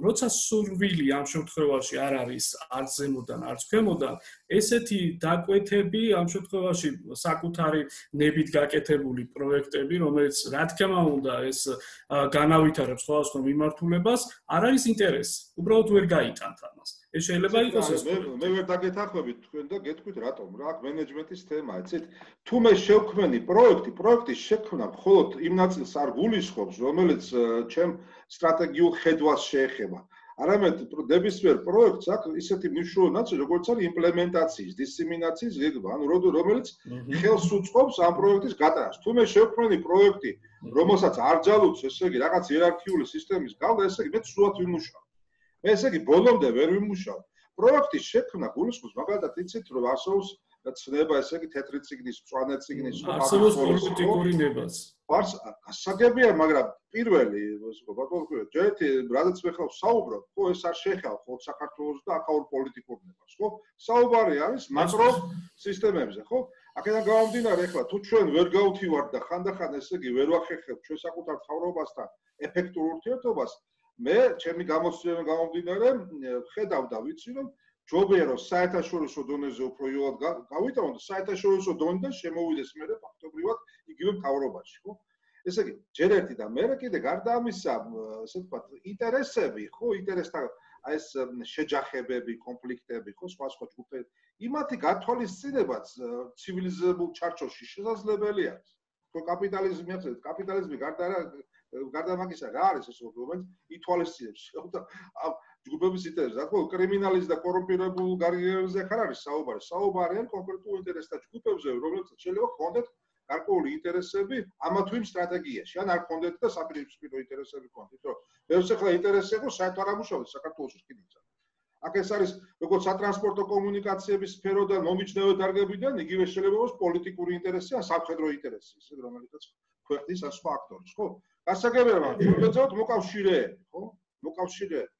როცა სურვილი ამ შემთხვევაში არ არის არც ზემოდან, არც ქვემოდან, ესეთი დაკვეთები ამ შემთხვევაში საკუთარი ნებით გაკეთებული პროექტები, რომელიც რა თქმა უნდა ეს განავითარებს სხვადასხვა მიმართულებას, არ არის ინტერესი. უბრალოდ ვერ გაიტანთ ამას. ეს შეიძლება იყოს ეს. მე ვერ დაგეთანხმებით თქვენ და გეტყვით რატომ რა აქ მენეჯმენტის თემაა, იცით? თუ მე შევქმენი პროექტის შექმნა მხოლოდ იმ ნაწილს არ გულისხმობს, რომელიც ჩემ სტრატეგიულ ხედვას შეეხება. არამედ ნებისმიერ პროექტს აქვს ისეთი მნიშვნელოვანი ნაწილი, როგორც არის იმპლემენტაციის, დისემინაციის გეგმა, ანუ რომელიც ხელს უწყობს ამ პროექტის გატარებას. თუ მე შევქმენი პროექტი, რომელსაც არ ჯალუts, ესე იგი, რაღაც იერარქიული სისტემის გავდა, ესე იგი, მე სულად ვიმუშავ. მე ესე იგი, ბოლომდე ვერ ვიმუშავ. პროექტის შექმნა გულისხმობს, მაგალითად, იცით, რომ არსებობს ცნება, ესე იგი, თეთრი წიგნის, მწვანე წიგნის, არსებობს პოლიტიკური ნებაც. გასაგებია, მაგრამ პირველი, ჯერეთი, რადგან მე ხალხს საუბრობ, ხო, ეს არ შეეხება ხოლმე საქართველოს და აქაურ პოლიტიკურ ნებას, ხო? საუბარი არის მაკრო სისტემებზე, ხო? აქედან გამომდინარე, ახლა თუ ჩვენ ვერ გავთივართ და ხანდახან ესე იგი ვერ ვახერხებთ ჩვენ საკუთარ თავრობასთან ეფექტურ ურთიერთობას, მე ჩემი გამოცდილებიდან გამომდინარე, ხედავ და ვიცი, რომ ჯობია რომ საერთაშორისო დონეზე უფრო იოლად გავიტანოთ და საერთაშორისო დონიდან შემოვიდეს მე ფაქტობრივად იგივე მთავრობაში, ხო? ესე იგი, ჯერ ერთი და მე კიდე გარდა ამისა, ასე ვთქვათ, ინტერესები, ხო, ინტერესთან აი ეს შეჯახებები, კონფლიქტები, ხო, სხვა ჯგუფები, იმათი გათვალისწინებაც ცივილიზებულ ჩარჩოში შესაძლებელი არის. ხო, კაპიტალიზმი ახსენეთ, კაპიტალიზმი გარდა მაგისა რა არის ეს რომელიც ითვალისწინებს ჯგუფების ინტერესს, რა თქმა უნდა, კრიმინალის და კორუმპირებულ გარიგებებზე ხარ არის საუბარი. საუბარი არის კონკრეტულ ინტერესთა ჯგუფებზე, რომლებსაც შეიძლება ჰქონდეთ გარკვეული ინტერესები ამა თუ იმ სტრატეგიაში, ან არ ჰქონდეთ და საპირისპირო ინტერესები ჰქონდეთ, რომ ეს ახლა ინტერესი იყო საერთოდ არ ამუშავდეს საქართველოს კიდეც. აქ ეს არის როგორც სატრანსპორტო კომუნიკაციების სფეროდან მომიჯნავე დარგებიდან, იგივე შეიძლება იყოს პოლიტიკური ინტერესი ან სამხედრო ინტერესი, ისე რომელიცაც ქვეყნის ან სხვა აქტორის, ხო? გასაგებია, მაგრამ უბრალოდ მოკავშირეები, ხო? მოკავშირეები.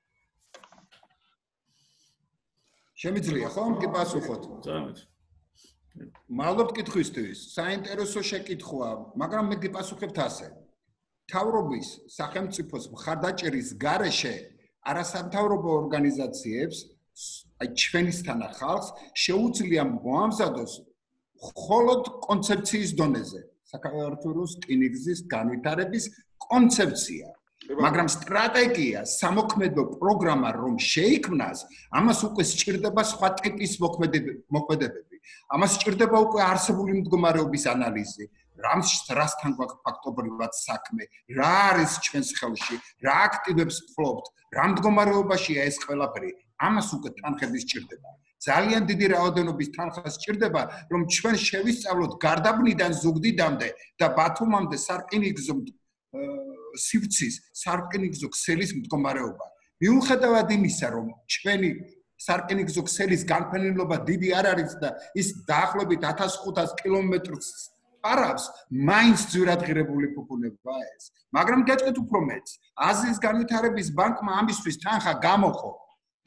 შემიძლია ხომ კი პასუხოთ? ძალიან. მადლობთ კითხვისთვის. საინტერესო შეკითხვა, მაგრამ მე გიპასუხებთ ასე. მთავრობის სახელმწიფოს მხარდაჭერის გარეშე არასამთავრობო ორგანიზაციებს, აი ჩვენისთანა ხალხს შეუძლია მოამზადოს მხოლოდ კონცეფციის დონეზე. საქართველოს რკინიგზის განვითარების კონცეფცია. მაგრამ სტრატეგია, სამოქმედო პროგრამა რომ შეიქმნას, ამას უკვე სჭირდება სხვა ტიპის მოქმედებები. ამას სჭირდება უკვე არსებული მდგომარეობის ანალიზი, რასთან გვაქვს ფაქტობრივად საქმე, რა არის ჩვენს ხელში, რა აქტივებს ფლობთ, რა მდგომარეობაშია ეს ყველაფერი, ამას უკვე თანხები სჭირდება. ძალიან დიდი რაოდენობის თანხა სჭირდება, რომ ჩვენ შევისწავლოთ გარდაბნიდან ზუგდიდამდე და ბათუმამდე სარკინიგზო სივრცის სარკინიგზო ქსელის მდგომარეობა. მიუხედავად იმისა, რომ ჩვენი სარკინიგზო ქსელის განფენილობა დიდი არ არის და ის დაახლოებით 1500 კილომეტრს პარავს, მაინც ძვირადღირებული ფუფუნებაა ეს. მაგრამ გეტყვით უფრო მეც. აზიის განვითარების ბანკმა ამისთვის თანხა გამოყო.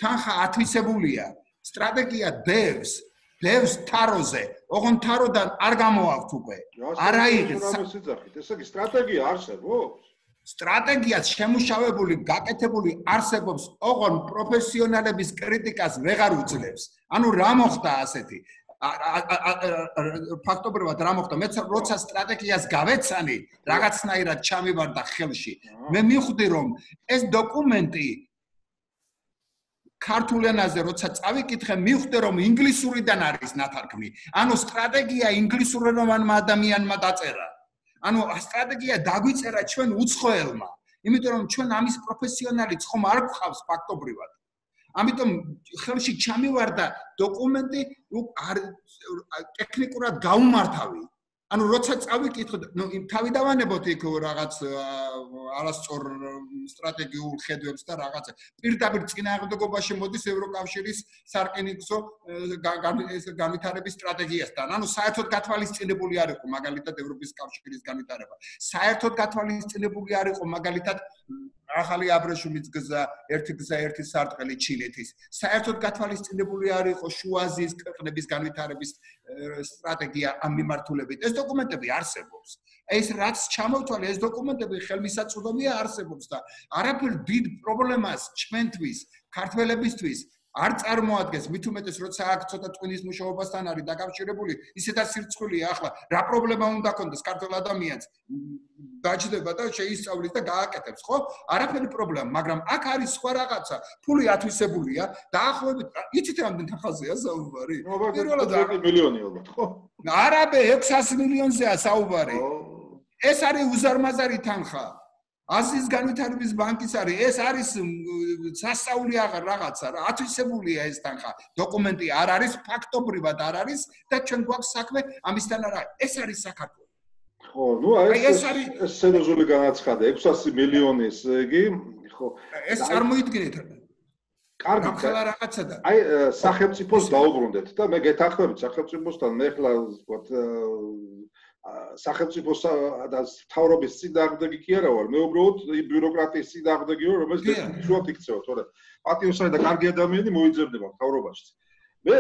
თანხა ათვისებულია. სტრატეგია დევს თაროზე. ოღონ თაროდან არ გამოაქვთ უკვე. არა იღებს. ესე იგი სტრატეგია არსებობს? სტრატეგიას შემუშავებული, გაკეთებული არსებობს, ოღონ პროფესიონალების კრიტიკას ვეღარ უძლებს. ანუ რა მოხდა ასეთი? ფაქტობრივად რა მოხდა? მე როცა სტრატეგიას გავეცანი, რაღაცნაირად ჩამივარდა ხელში. მე მივხვდი, რომ ეს დოკუმენტი ქართულ ენაზე როცა წავიკითხე, მივხვდი, რომ ინგლისურიდან არის ნათარგმნი. ანუ სტრატეგია ინგლისურენოვანმა ადამიანმა დაწერა. ანუ სტრატეგია დაგვიწერა ჩვენ უცხოელმა, იმიტომ რომ ჩვენ ამის პროფესიონალიც ხომ არ გვყავს ფაქტობრივად. ამიტომ ხელში ჩამივარდა დოკუმენტი ტექნიკურად გაუმართავი. ანუ როცა წავიკითხე, თავი დავანებოთ იქ რაღაც არასწორ სტრატეგიულ ხედვებს და რაღაც პირდაპირ წინააღმდეგობაში მოდის ევროკავშირის სარკინიგზო განვითარების სტრატეგიასთან. ანუ საერთოდ გათვალისწინებული არ იყო მაგალითად ევროპის კავშირის განვითარება. საერთოდ გათვალისწინებული არ იყო მაგალითად ახალი აბრეშუმის გზა, ერთი გზა, ერთი სარტყელი ჩინეთის. საერთოდ გათვალისწინებული არ იყო შუა აზიის ქვეყნების განვითარების სტრატეგია ამ მიმართულებით. ეს დოკუმენტები არსებობს. ეს რაც ჩამოვთვალე, ეს დოკუმენტები ხელმისაწვდომია არსებობს და არაფერ დიდ პრობლემას ჩვენთვის, ქართველებისთვის არ წარმოადგენს მით უმეტეს როცა აქ ცოტა ტვინის მუშაობასთან არის დაკავშირებული ისედაც სირცხვილია ახლა რა პრობლემა უნდა ქონდეს ქართულ ადამიანს დაჭდება და შეისწავლის და გააკეთებს ხო არაფერი პრობლემა მაგრამ აქ არის სხვა რაღაცა ფული ათვისებულია დაახლოებით იცით რამდენ თანხაზეა საუბარი პირველად 10 მილიონი ალბათ ხო არაბე 600 მილიონზეა საუბარი ეს არის უზარმაზარი თანხა აზიის განვითარების ბანკის არის ეს არის სასწაული რაღაცა რა ათვისებულია ეს თანხა დოკუმენტი არ არის ფაქტობრივად არ არის და ჩვენ გვაქვს საქმე ამისთან არა ეს არის საქართველო ხო ნუ ეს არის სერიოზული განაცხადა 600 მილიონი ესე იგი ხო ეს წარმოიდგინეთ კარგი ახლა რაღაცა და აი სახელმწიფოს დაუბრუნდეთ და მე გეთანხმებით სახელმწიფოსთან მე ხლა ვთქვათ სახელმწიფოს და თავრობის წინააღმდეგი კი არა ვარ მე უბრალოდ ბიუროკრატიის წინააღმდეგი ვარ რომელიც დესპოტიურად იქცევა თორე პატიოსანი და კარგი ადამიანი მოიძებნება თავრობაში მე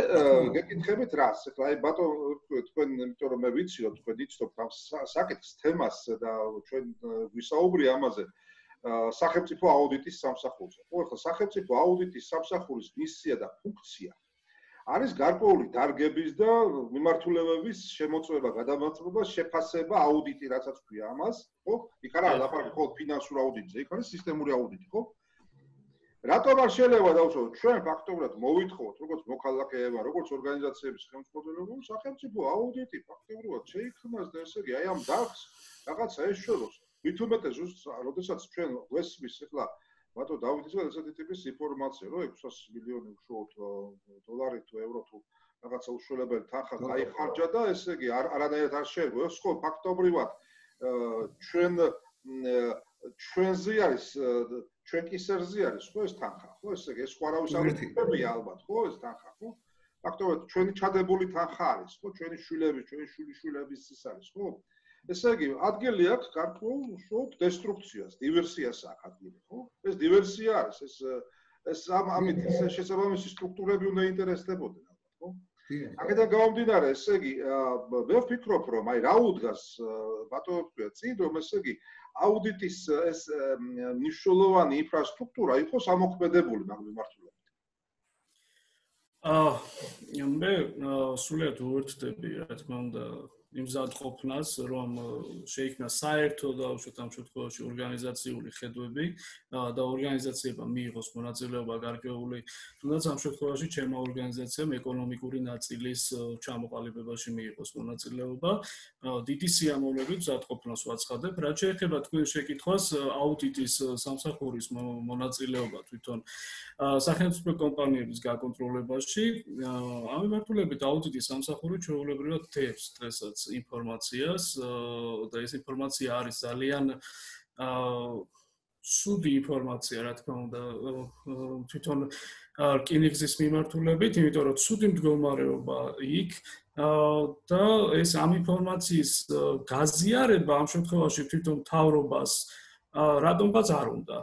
გეკითხებით რას ახლა აი ბატონო თქვენ იმიტომ რომ მე ვიცი რომ თქვენ იცნობთ ამ საკითხს თემას და ჩვენ ვისაუბრე ამაზე სახელმწიფო აუდიტის სამსახურზე ხო ახლა სახელმწიფო აუდიტის სამსახურის მისია და ფუნქცია არის გარკვეული დარგების და მიმართულებების შემოწმება, გადამოწმება, შეფასება, აუდიტი, რასაც ქვია ამას, ხო? იქ არა ლაპარაკი ხო ფინანსურ აუდიტზე, იქ არის სისტემური აუდიტი, ხო? რატომ არ შეიძლება დავუშვათ, ჩვენ ფაქტობრივად მოვითხოვოთ, როგორც მოქალაქეებმა, როგორც ორგანიზაციების ხელმძღვანელობამ, სახელმწიფო აუდიტი ფაქტობრივად შეიქმნას და ესე იგი, აი ამ დარგს რაღაცა ეშველოს. მით უმეტეს ზუსტად, როდესაც ჩვენ ვესმის ახლა ბატონო დავითისგან ესეთი ტიპის ინფორმაცია, რომ 600 მილიონი უშუალოდ დოლარი თუ ევრო თუ რაღაცა უშუალებელი თანხა გაიხარჯა და ესე იგი არანაირად არ შეიძლება. ეს ხო ფაქტობრივად ჩვენზე არის, ჩვენ კისერზე არის ხო ეს თანხა, ხო ესე იგი ეს სხვა არავის არ უწევია ალბათ, ხო ეს თანხა, ხო? ფაქტობრივად ჩვენი ჩადებული თანხა არის, ხო ჩვენი შვილების, ჩვენი შვილიშვილების ის არის, ხო? ესე იგი, ადგილი აქვს გარკვეულ უშუალოდ დესტრუქციას, დივერსიას აქვს ადგილი, ხო? ეს დივერსია არის, ეს ამით შესაბამისი სტრუქტურები უნდა ინტერესდებოდნენ, ხო? აქედან გამომდინარე, ესე იგი, მე ვფიქრობ, რომ აი რა უდგას ბატონო თქვია წინ, რომ ესე იგი, აუდიტის ეს მნიშვნელოვანი ინფრასტრუქტურა იყოს ამოქმედებული მაგ მიმართულებით. მე სულიად უერთდები, რა თქმა უნდა, იმზადყოფნას, რომ შეიქმნა საერთო და უშუალოდ ამ შემთხვევაში ორგანიზაციული ხედვები და ორგანიზაციებმა მიიღოს მონაწილეობა გარკვეული, თუნდაც ამ შემთხვევაში ჩემმა ორგანიზაციამ ეკონომიკური ნაწილის ჩამოყალიბებაში მიიღოს მონაწილეობა. დიდი სიამოვნებით მზადყოფნას ვაცხადებ, რაც შეეხება თქვენ შეკითხვას აუდიტის სამსახურის მონაწილეობა თვითონ სახელმწიფო კომპანიების გაკონტროლებაში. ამ მიმართულებით აუდიტის სამსახური ჩვეულებრივად დევს დღესაც ინფორმაციას და ეს ინფორმაცია არის ძალიან სუდი ინფორმაცია, რა თქმა უნდა, თვითონ რკინიგზის მიმართულებით, იმიტომ რომ სუდი მდგომარეობა იქ და ეს ამ ინფორმაციის გაზიარება ამ შემთხვევაში თვითონ მთავრობას რატომღაც არ უნდა.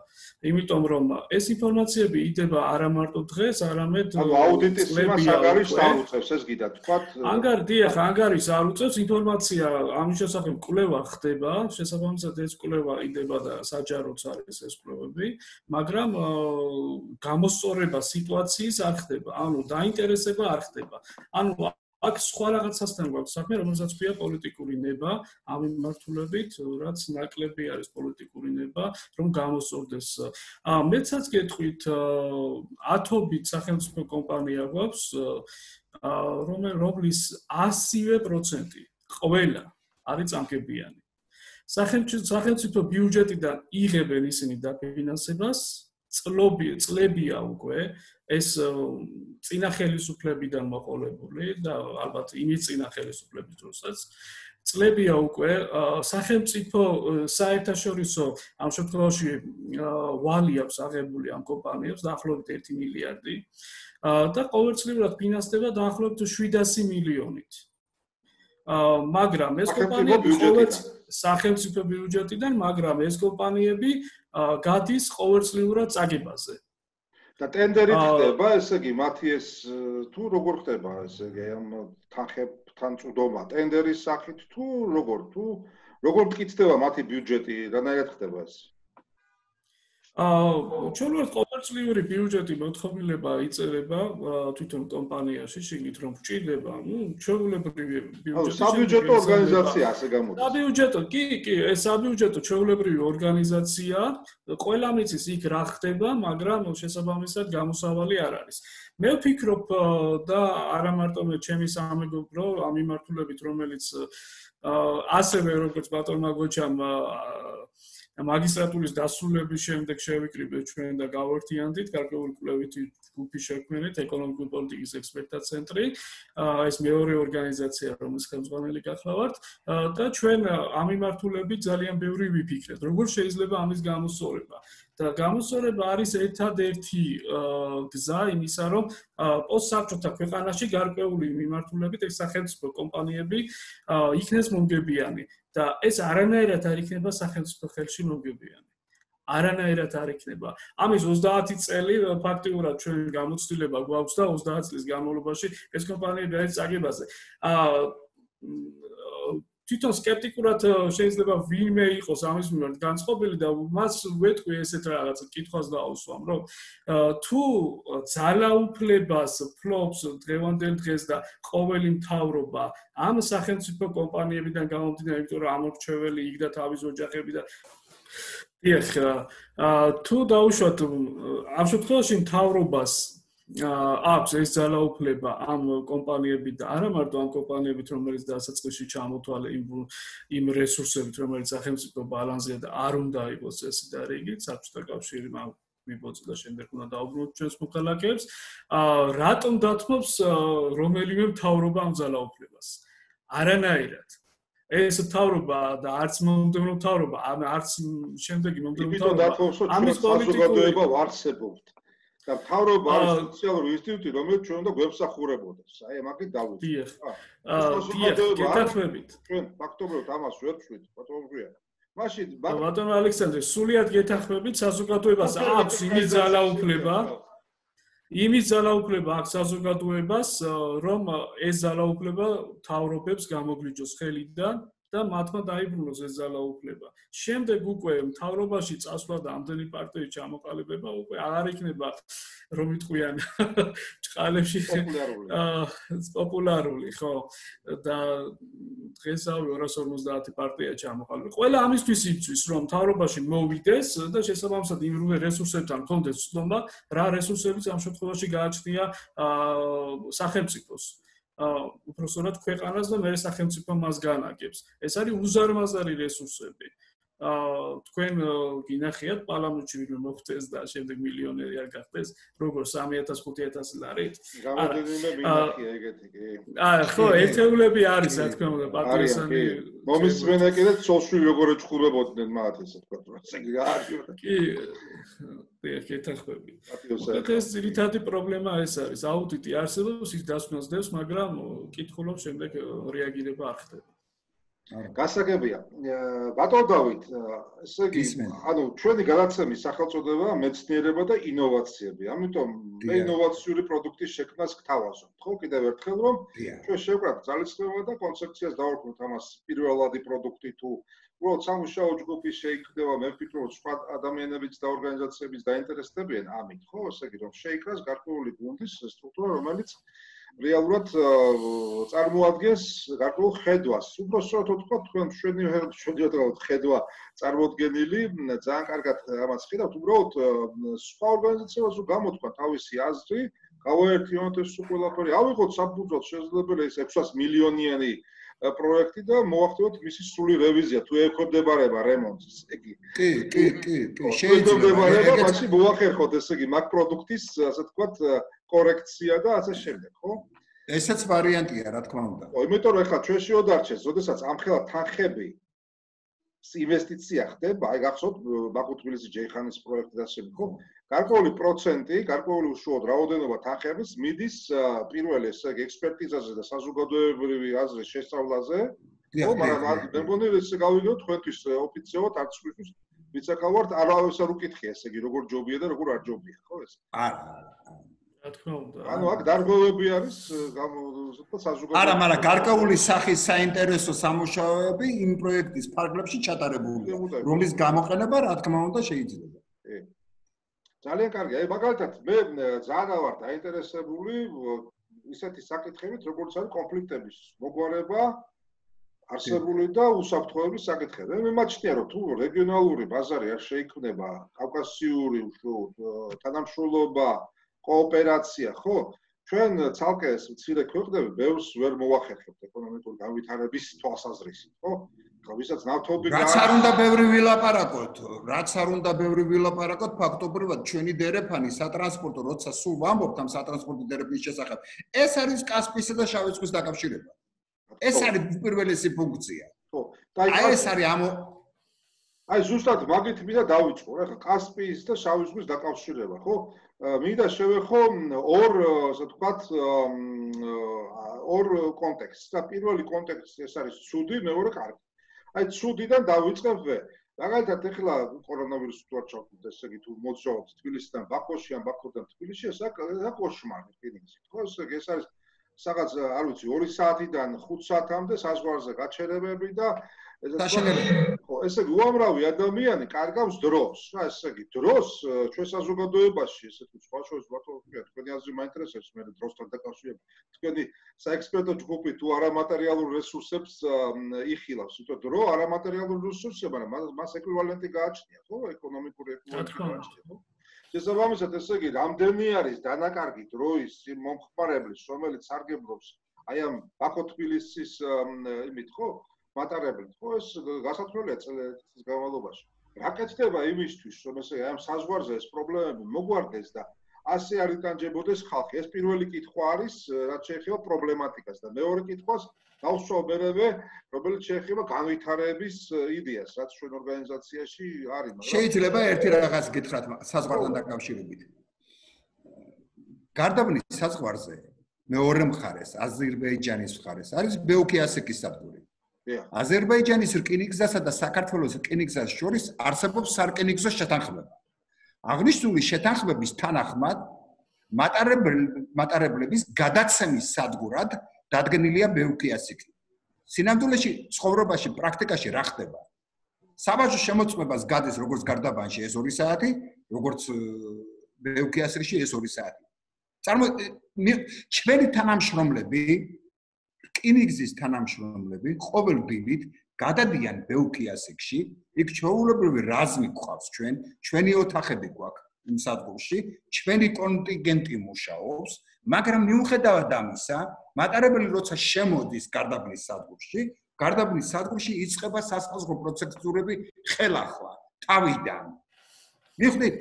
იმიტომ რომ ეს ინფორმაციები იდება არა მარტო დღეს, არამედ აუდიტის იმას ანგარიშს არ უწევს, ეს გიდა თქვათ. ანგარიშს არ უწევს, ინფორმაცია ამის შესახებ კვლევა ხდება, შესაბამისად ეს კვლევა იდება და საჯაროც არის ეს კვლევები, მაგრამ გამოსწორება სიტუაციის არ ხდება, ანუ დაინტერესება არ ხდება. ანუ აქ სხვა რაღაცასთან გვაქვს საქმე, რომელსაც ქვია პოლიტიკური ნება, ამ მიმართულებით, რაც ნაკლები არის პოლიტიკური ნება, რომ გამოსწორდეს. მეცაც გეტყვით, ათობით სახელმწიფო კომპანია გვაქვს, რომლის 100% ყველა არის წამქებიანი. სახელმწიფო ბიუჯეტიდან იღებენ ისინი დაფინანსებას, წლებია უკვე ეს წინა ხელისუფლებიდან მოყოლებული და ალბათ იმის წინა ხელისუფლების დროსაც წლებია უკვე სახელმწიფო საერთაშორისო ამ შემთხვევაში ვალი აქვს აღებული ამ კომპანიებს დაახლოებით 1 მილიარდი და ყოველწლიურად ფინანსდება დაახლოებით 700 მილიონით. მაგრამ ეს კომპანიები სახელმწიფო ბიუჯეტიდან, მაგრამ ეს კომპანიები გადის ყოველწლიურად წაგებაზე. და ტენდერით ხდება, ესე იგი, მათი ეს თუ როგორ ხდება, ესე იგი, ამ თანხებთან წვდომა, ტენდერის სახით თუ როგორ მტკიცდება მათი ბიუჯეტი, რანაირად ხდება ეს? ჩვენ ვართ ყოველწლიური ბიუჯეტი მოთხოვნილება იწერება თვითონ კომპანიაში, შეგით რომ გჭირდება, ჩვეულებრივი ბიუჯეტი. საბიუჯეტო ორგანიზაცია ასე გამოდის. საბიუჯეტო, კი, ეს საბიუჯეტო ჩვეულებრივი ორგანიზაცია, ყველამ იცის იქ რა ხდება, მაგრამ შესაბამისად გამოსავალი არ არის. მე ვფიქრობ და არა მარტო მე ჩემი სამეგობრო ამ მიმართულებით, რომელიც ასევე როგორც ბატონმა გოჩამ მაგისტრატურის დასრულების შემდეგ შევიკრიბეთ ჩვენ და გავერთიანდით გარკვეული კვლევითი ჯგუფი შექმნით ეკონომიკური პოლიტიკის ექსპერტთა ცენტრი. ეს მეორე ორგანიზაცია, რომლის ხელმძღვანელი გახლავართ და ჩვენ ამ მიმართულებით ძალიან ბევრი ვიფიქრეთ. როგორ შეიძლება ამის გამოსწორება? და გამოსწორება არის ერთადერთი გზა იმისა, რომ პოსტსაბჭოთა ქვეყანაში გარკვეული მიმართულებით ეს სახელმწიფო კომპანიები იქნეს მომგებიანი. და ეს არანაირად არ იქნება სახელმწიფო ხელში მომგებიანი. არანაირად არ იქნება. ამის 30 წელი ფაქტიურად ჩვენ გამოცდილება გვაქვს და 30 წლის განმავლობაში ეს კომპანიები არის წაგებაზე. თვითონ სკეპტიკურად შეიძლება ვინმე იყოს ამის მიმართ განწყობილი და მას ვეთქვი ესეთ რაღაც კითხვას დავუსვამ, რომ თუ ძალაუფლებას ფლობს დღევანდელ დღეს და ყოველი მთავრობა ამ სახელმწიფო კომპანიებიდან გამომდინარე, იმიტომ რომ ამორჩეველი იქ და თავის ოჯახები და თუ დაუშვათ ამ შემთხვევაში მთავრობას აქვს ეს ძალაუფლება ამ კომპანიებით და არა მარტო ამ კომპანიებით, რომელიც დასაწყისში ჩამოთვალე იმ რესურსებით, რომელიც სახელმწიფო ბალანსია და არ უნდა იყოს წესი და რიგი, საბჭოთა კავშირი მიბოძა და შემდეგ უნდა დაუბრუნოთ ჩვენს მოქალაქეებს. რატომ დათმობს რომელიმე მთავრობა ამ ძალაუფლებას? არანაირად. ეს მთავრობა და არც მომდევნო მთავრობა, არც შემდეგი მომდევნო მთავრობა ამის საზოგადოება ვარსებობთ. და მთავრობა არის სოციალური ინსტიტუტი, რომელიც ჩვენ უნდა გვემსახურებოდეს. აი, მაგით დავუწყო. გეთანხმებით. ჩვენ ფაქტობრივად ამას ვერ ვშვით, ბატონო მგვია. მაშინ ბატონო ალექსანდრე, სულიად გეთანხმებით, საზოგადოებას აქვს იმის ძალაუფლება. იმის ძალაუფლება აქვს საზოგადოებას, რომ ეს ძალაუფლება მთავრობებს გამოგვიჯოს ხელიდან და მათმა დაიბრუნოს ეს ძალაუფლება. შემდეგ უკვე მთავრობაში წასვლა და ამდენი პარტიის ჩამოყალიბება უკვე არ იქნება რომ იტყვიან ჭყალებში პოპულარული, ხო? და დღესავე 250 პარტია ჩამოყალიბება. ყველა ამისთვის იწვის, რომ მთავრობაში მოვიდეს და შესაბამისად იმ რესურსებთან კონდეს ცნობა, რა რესურსებიც ამ შემთხვევაში გააჩნია სახელმწიფოს. უпроსტად ქვეყანას და მე სახელმწიფო მას განაგებს. ეს არის უზარმაზარი რესურსები. თქვენ გინახიათ პარლამენტში ვინმე მოხდეს და შემდეგ მილიონერი არ გახდეს, როგორ 3000-5000 ლარით. გამოდენიმე მინახია ეგეთი კი. ხო, ერთეულები არის, რა თქმა უნდა, პატრიოტანი. მომისმენა კიდე ცოლშვილი როგორ ეჭხურებოდნენ მათ ესე თქვა, ესე კი არის. კი. გეთანხმები. ეს ძირითადი პრობლემა ეს არის. აუდიტი არსებობს, ის დასკვნას დევს, მაგრამ კითხულობს შემდეგ რეაგირება არ ხდება. გასაგებია. ბატონო დავით, ესე იგი, ანუ ჩვენი გადაცემის სახელწოდებაა მეცნიერება და ინოვაციები. ამიტომ მე ინოვაციური პროდუქტის შექმნას გთავაზობ. ხო, კიდევ ერთხელ რომ ჩვენ შევკრათ ძალისხმევა და კონცეფციას დავარქმევთ ამას პირველადი პროდუქტი თუ უბრალოდ სამუშაო ჯგუფი შეიქმნება, მე ვფიქრობ, სხვა ადამიანებიც და ორგანიზაციებიც დაინტერესდებიან ამით, ხო, ესე იგი, რომ შეიქმნას გარკვეული გუნდის სტრუქტურა, რომელიც რეალურად წარმოადგენს გარკვეულ ხედვას. უბრალოდ თქვა, თქვენ შედიოდეთ ხედვა წარმოდგენილი, ძალიან კარგად ამას ხედავთ, უბრალოდ სხვა ორგანიზაციებსაც გამოთქვა თავისი აზრი, გავაერთიანოთ ეს ყველაფერი, ავიღოთ საფუძვლად შესაძლებელი ეს 600 მილიონიანი პროექტი და მოახდინოთ მისი სრული რევიზია, თუ ექვემდებარება რემონტს, იგი. კი. შეიძლება მაშინ მოახერხოთ, ესე იგი, მაგ პროდუქტის, ასე ვთქვათ, კორექცია და ასე შემდეგ, ხო? ესეც ვარიანტია, რა თქმა უნდა. ხო, იმიტომ რომ ეხლა ჩვენ შევდარჩეს, როდესაც ამხელა თანხები ინვესტიცია ხდება, აი გახსოვთ, ბაქო-თბილისი ჯეიხანის პროექტი და ასე შემდეგ, ხო? გარკვეული პროცენტი, გარკვეული უშუალოდ რაოდენობა თანხების მიდის პირველ ესე იგი ექსპერტიზაზე და საზოგადოებრივი აზრის შესწავლაზე. ხო, მაგრამ მე მგონი ესე გავიგოთ თქვენთვის ოფიციალურად არც ხვის ვიცაკავართ, არავის არ უკითხია, ესე იგი როგორ ჯობია და როგორ არ ჯობია, ხო ეს? არა. რა თქმა უნდა. ანუ აქ დარღვევები არის საზოგადოებრივი. არა, მაგრამ გარკვეული სახის საინტერესო სამუშაოები იმ პროექტის ფარგლებში ჩატარებულია, რომლის გამოყენება რა თქმა უნდა შეიძლება. ძალიან კარგი. აი მაგალითად მე ძალიან ვარ დაინტერესებული ისეთი საკითხებით, როგორც არის კონფლიქტების მოგვარება, არსებული და უსაფრთხოების საკითხები. მე მიმაჩნია, რომ თუ რეგიონალური ბაზარი არ შეიქმნება, კავკასიური თანამშრომლობა, კოოპერაცია, ხო? ჩვენ ცალკე ეს მცირე ქვეყნები ბევრს ვერ მოახერხებთ ეკონომიკური განვითარების თვალსაზრისით, ხო? ვისაც ნავთობი რაც არ უნდა ბევრი ვილაპარაკოთ, ფაქტობრივად ჩვენი დერეფანი სატრანსპორტო, როცა სულ ვამბობთ ამ სატრანსპორტო დერეფნის შესახებ, ეს არის კასპიისა და შავი ზღვის დაკავშირება. ეს არის უპირველესი ფუნქცია. ხო, აი ეს არის აი ზუსტად მაგით მინდა დავიწყო, რა, კასპიის და შავი ზღვის დაკავშირება, ხო? მინდა შევეხო ორ კონტექსტს. და პირველი კონტექსტი ეს არის ცუდი, მეორე კარგი. აი ცუდიდან დავიწყებ ვე. მაგალითად ეხლა კორონავირუსი თუ არ ჩავთვლით, ესე იგი თუ მოძრაობთ თბილისიდან ბაქოში ან ბაქოდან თბილისში, ეს კოშმარი რკინიგზით, ხო? ესე იგი ეს არის სადღაც არ ვიცი 2 საათიდან 5 საათამდე საზღვარზე გაჩერებები და ხო, ესე იგი უამრავი ადამიანი კარგავს დროს, რა ესე იგი დროს ჩვენ საზოგადოებაში ესე თუ სხვა შორის თქვენი აზრი მაინტერესებს მე დროსთან დაკავშირებით. თქვენი საექსპერტო ჯგუფი თუ არამატერიალურ რესურსებს იხილავს, თვითონ დრო არამატერიალურ რესურსებს, მაგრამ მას ეკვივალენტი გააჩნია, ხო? ეკონომიკური ეკვივალენტი გააჩნია, ხო? შესაბამისად, ესე იგი, რამდენი არის დანაკარგი დროის მომხმარებლის, რომელიც სარგებლობს აი ამ ბაქო-თბილისის იმით, ხო? მატარებლით, ხო? ეს გასათვლელია წელიწადის განმავლობაში. რა კეთდება იმისთვის, რომ ესე აი ამ საზღვარზე ეს პრობლემები მოგვარდეს და ასე არ იტანჯებოდეს ხალხი. ეს პირველი კითხვა არის, რაც შეეხება პრობლემატიკას და მეორე კითხვას დავსვავ მერევე, რომელიც შეეხება განვითარების იდეას, რაც ჩვენ ორგანიზაციაში არის, მაგრამ შეიძლება ერთი რაღაც გითხრათ საზღვართან დაკავშირებით. გარდაბნის საზღვარზე მეორე მხარეს, აზერბაიჯანის მხარეს არის ბეუქი-ასეკის სადგური. აზერბაიჯანის რკინიგზასა და საქართველოს რკინიგზას შორის არსებობს სარკინიგზო შეთანხმება. აღნიშნული შეთანხმების თანახმად მატარებლების გადაცემის სადგურად დადგენილია ბეუქი-ასეკი. სინამდვილეში ცხოვრებაში პრაქტიკაში რა ხდება? საბაჟო შემოწმებას გადის როგორც გარდაბანში ეს 2 საათი, როგორც ბეუქი-ასეკში ეს 2 საათი. ჩვენი თანამშრომლები, რკინიგზის თანამშრომლები ყოველ დილით გადადიან ბეუქი-ასეკში, იქ ჩვეულებრივი რაზმი გვყავს ჩვენი ოთახები გვაქვს იმ სადგურში, ჩვენი კონტინგენტი მუშაობს, მაგრამ მიუხედავად ამისა, მატარებელი როცა შემოდის გარდაბნის სადგურში იწყება სასაზღვრო პროცედურები ხელახლა, თავიდან. მიხვდით,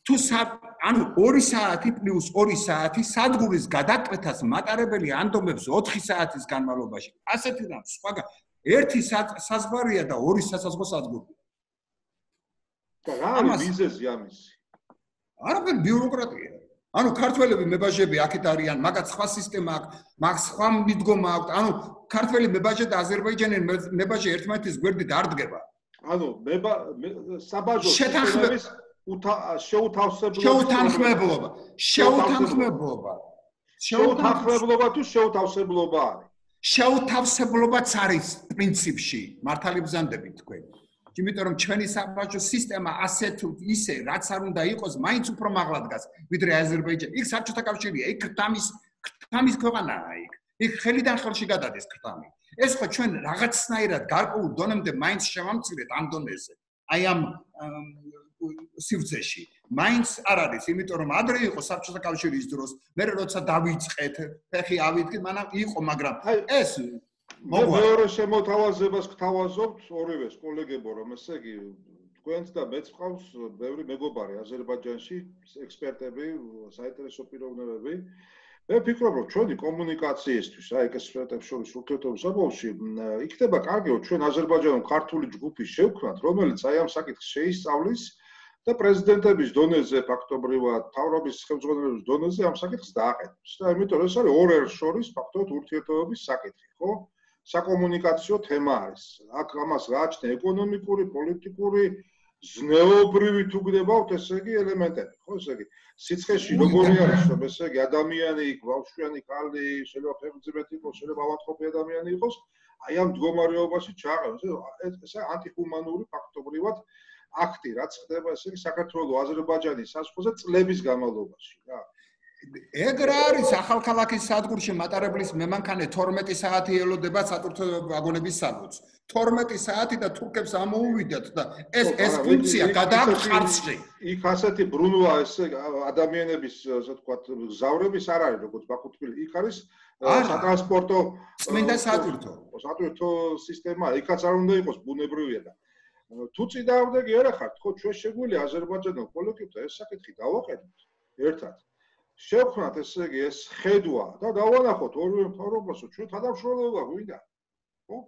თუ 2 საათი პლუს 2 საათი სადგურის გადაკვეთას მატარებელი ანდომებს 4 საათის განმავლობაში. ასეთი რამ სხვაგან ერთი საზღვარია და 2 სასაზღვრო სადგურია. და რა არის მიზეზი ამისი? არაფერი ბიუროკრატია. ქართველები მებაჟები აქეთ არიან, მაგათ სხვა სისტემა აქვს, მაგ სხვა მიდგომა აქვს. ქართველი მებაჟე და აზერბაიჯანელი მებაჟე ერთმანეთის გვერდით არ დგება. საბაჟო სისტემების შეუთავსებლობა თუ შეუთავსებლობა არის? შეუთავსებლობაც არის პრინციპში, მართალი ბრძანდებით თქვენ. იმიტომ რომ ჩვენი საბაჟო სისტემა ასე თუ ისე რაც არ უნდა იყოს, მაინც უფრო მაღლა დგას, ვიდრე აზერბაიჯანი. იქ საბჭოთა კავშირია, იქ ქრთამის ქვეყანაა იქ. იქ ხელიდან ხელში გადადის ქრთამი. ეს ხო ჩვენ რაღაცნაირად გარკვეულ დონემდე მაინც შევამცირეთ ამ დონეზე. აი ამ სივრცეში. მაინც არ არის, იმიტომ რომ ადრე იყო საბჭოთა კავშირის დროს, მე როცა დავიწყეთ, ფეხი ავიდგეთ, მანამ იყო, მაგრამ ეს მეორე შემოთავაზებას გთავაზობთ ორივეს კოლეგებო, რომ ესე იგი თქვენც და მეც ყავს ბევრი მეგობარი აზერბაიჯანში, ექსპერტები, საინტერესო პიროვნებები. მე ვფიქრობ, რომ ჩვენი კომუნიკაციისთვის, აი ექსპერტებს შორის ურთიერთობის საბოლოოში, იქნება კარგი, რომ ჩვენ აზერბაიჯანულ ქართული ჯგუფი შევქმნათ, რომელიც აი ამ საკითხს შეისწავლის და პრეზიდენტების დონეზე, ფაქტობრივად, თავრობის ხელმძღვანელობის დონეზე ამ საკითხს დააყენებს. და იმიტომ რომ ეს არის ორ ერს შორის ფაქტობრივად ურთიერთობების საკითხი, ხო? საკომუნიკაციო თემა არის. აქ ამას გააჩნია ეკონომიკური, პოლიტიკური, ზნეობრივი თუ გდებავთ, ესე იგი ელემენტები, ხო, ესე იგი სიცხეში როგორი არის, რომ ესე იგი ადამიანი იქ, ბავშვიანი ქალი, შეიძლება ფეხმძიმეთი იყოს, შეიძლება ავადმყოფი ადამიანი იყოს, აი ამ მდგომარეობაში ჩააყენოს. ეს ანტიჰუმანური ფაქტობრივად აქტი, რაც ხდება, ესე იგი საქართველოს აზერბაიჯანის საზღვარზე წლების განმავლობაში, რა. ეგ რა არის ახალქალაქის სადგურში მატარებლის მემანქანე 12 საათი ელოდება სატვირთო ვაგონების საბუთს. 12 საათი და თურქებს ამოუვიდათ და ეს ფუნქცია გადააქვს ხარჯში. იქ ასეთი ბრუნვა ესე ადამიანების, ასე ვთქვათ, გზავრების არ არის, როგორც ბაქო-თბილისი. იქ არის სატრანსპორტო წმინდა სატვირთო სისტემა, იქაც არ უნდა იყოს ბუნებრივია და თუ წინააღმდეგი არ ხართ, ხო, ჩვენ შეგვიძლია აზერბაიჯანელ კოლექტივთან ეს საკითხი დავაყენოთ ერთად. შევქმნათ ესე იგი ეს ხედვა და დავანახოთ ორივე მთავრობასო ჩვენ თანამშრომლობა გვინდა ხო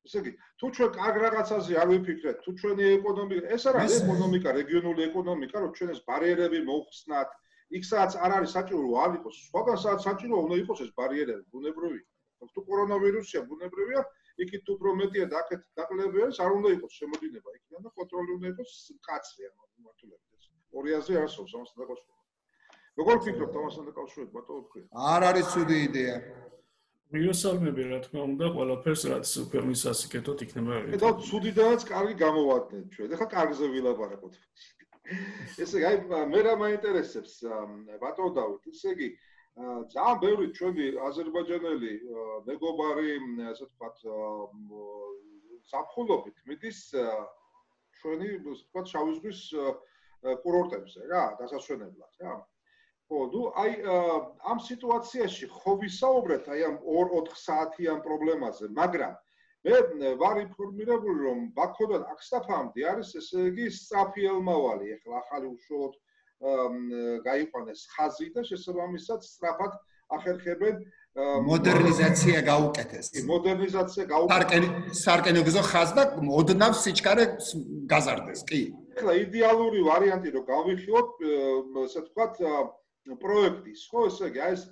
ესე იგი თუ ჩვენ კარგ რაღაცაზე არ ვიფიქრეთ თუ ჩვენი ეკონომიკა ეს არ არის ეკონომიკა რეგიონული ეკონომიკა რომ ჩვენ ეს ბარიერები მოხსნათ იქ სადაც არ არის საჭირო არ იყოს სხვაგან სადაც საჭირო უნდა იყოს ეს ბარიერები ბუნებრივი თუ კორონავირუსია ბუნებრივია იქით უფრო მეტია და აქეთ დაკლები არის არ უნდა იყოს შემოდინება იქიდან და კონტროლი უნდა იყოს მკაცრი ანუ მართლაც ორი აზრი არსებობს ამასთან დაკავშირებით როგორ ფიქრობთ ამასთან დაკავშირებით ბატონო თქვენ? არ არის ცუდი იდეა. მიუსალმები რა თქმა უნდა ყველაფერს რაც ქვეყნის ასიკეთოთ იქნება. და ცუდიდანაც კარგი გამოვადნენ ჩვენ. ეხლა კარგზე ვილაპარაკოთ. ესე იგი მე რა მაინტერესებს ბატონო დავით, ესე იგი ძალიან ბევრი ჩვენი აზერბაიჯანელი მეგობარი, ასე ვთქვათ, საფხულობით მიდის ჩვენი, ასე ვთქვათ, შავი ზღვის კურორტებზე რა, დასასვენებლად რა. ხო, ნუ აი ამ სიტუაციაში ხო ვისაუბრეთ აი ამ 2-4 საათიან პრობლემაზე, მაგრამ მე ვარ ინფორმირებული რომ ბაქოდან აქსტაფამდე არის ესე იგი სწრაფი ელმავალი, ეხლა ახალი უშუალოდ გაიყვანეს ხაზი და შესაბამისად სწრაფად ახერხებენ მოდერნიზაცია გაუკეთეს. მოდერნიზაცია გაუკეთეს. სარკინიგზო ხაზ და ოდნავ სიჩქარე გაზარდეს, კი. ეხლა იდეალური ვარიანტი რომ გავიხილოთ, ასე ვთქვათ, პროექტის, ხო, ესე იგი, აი ეს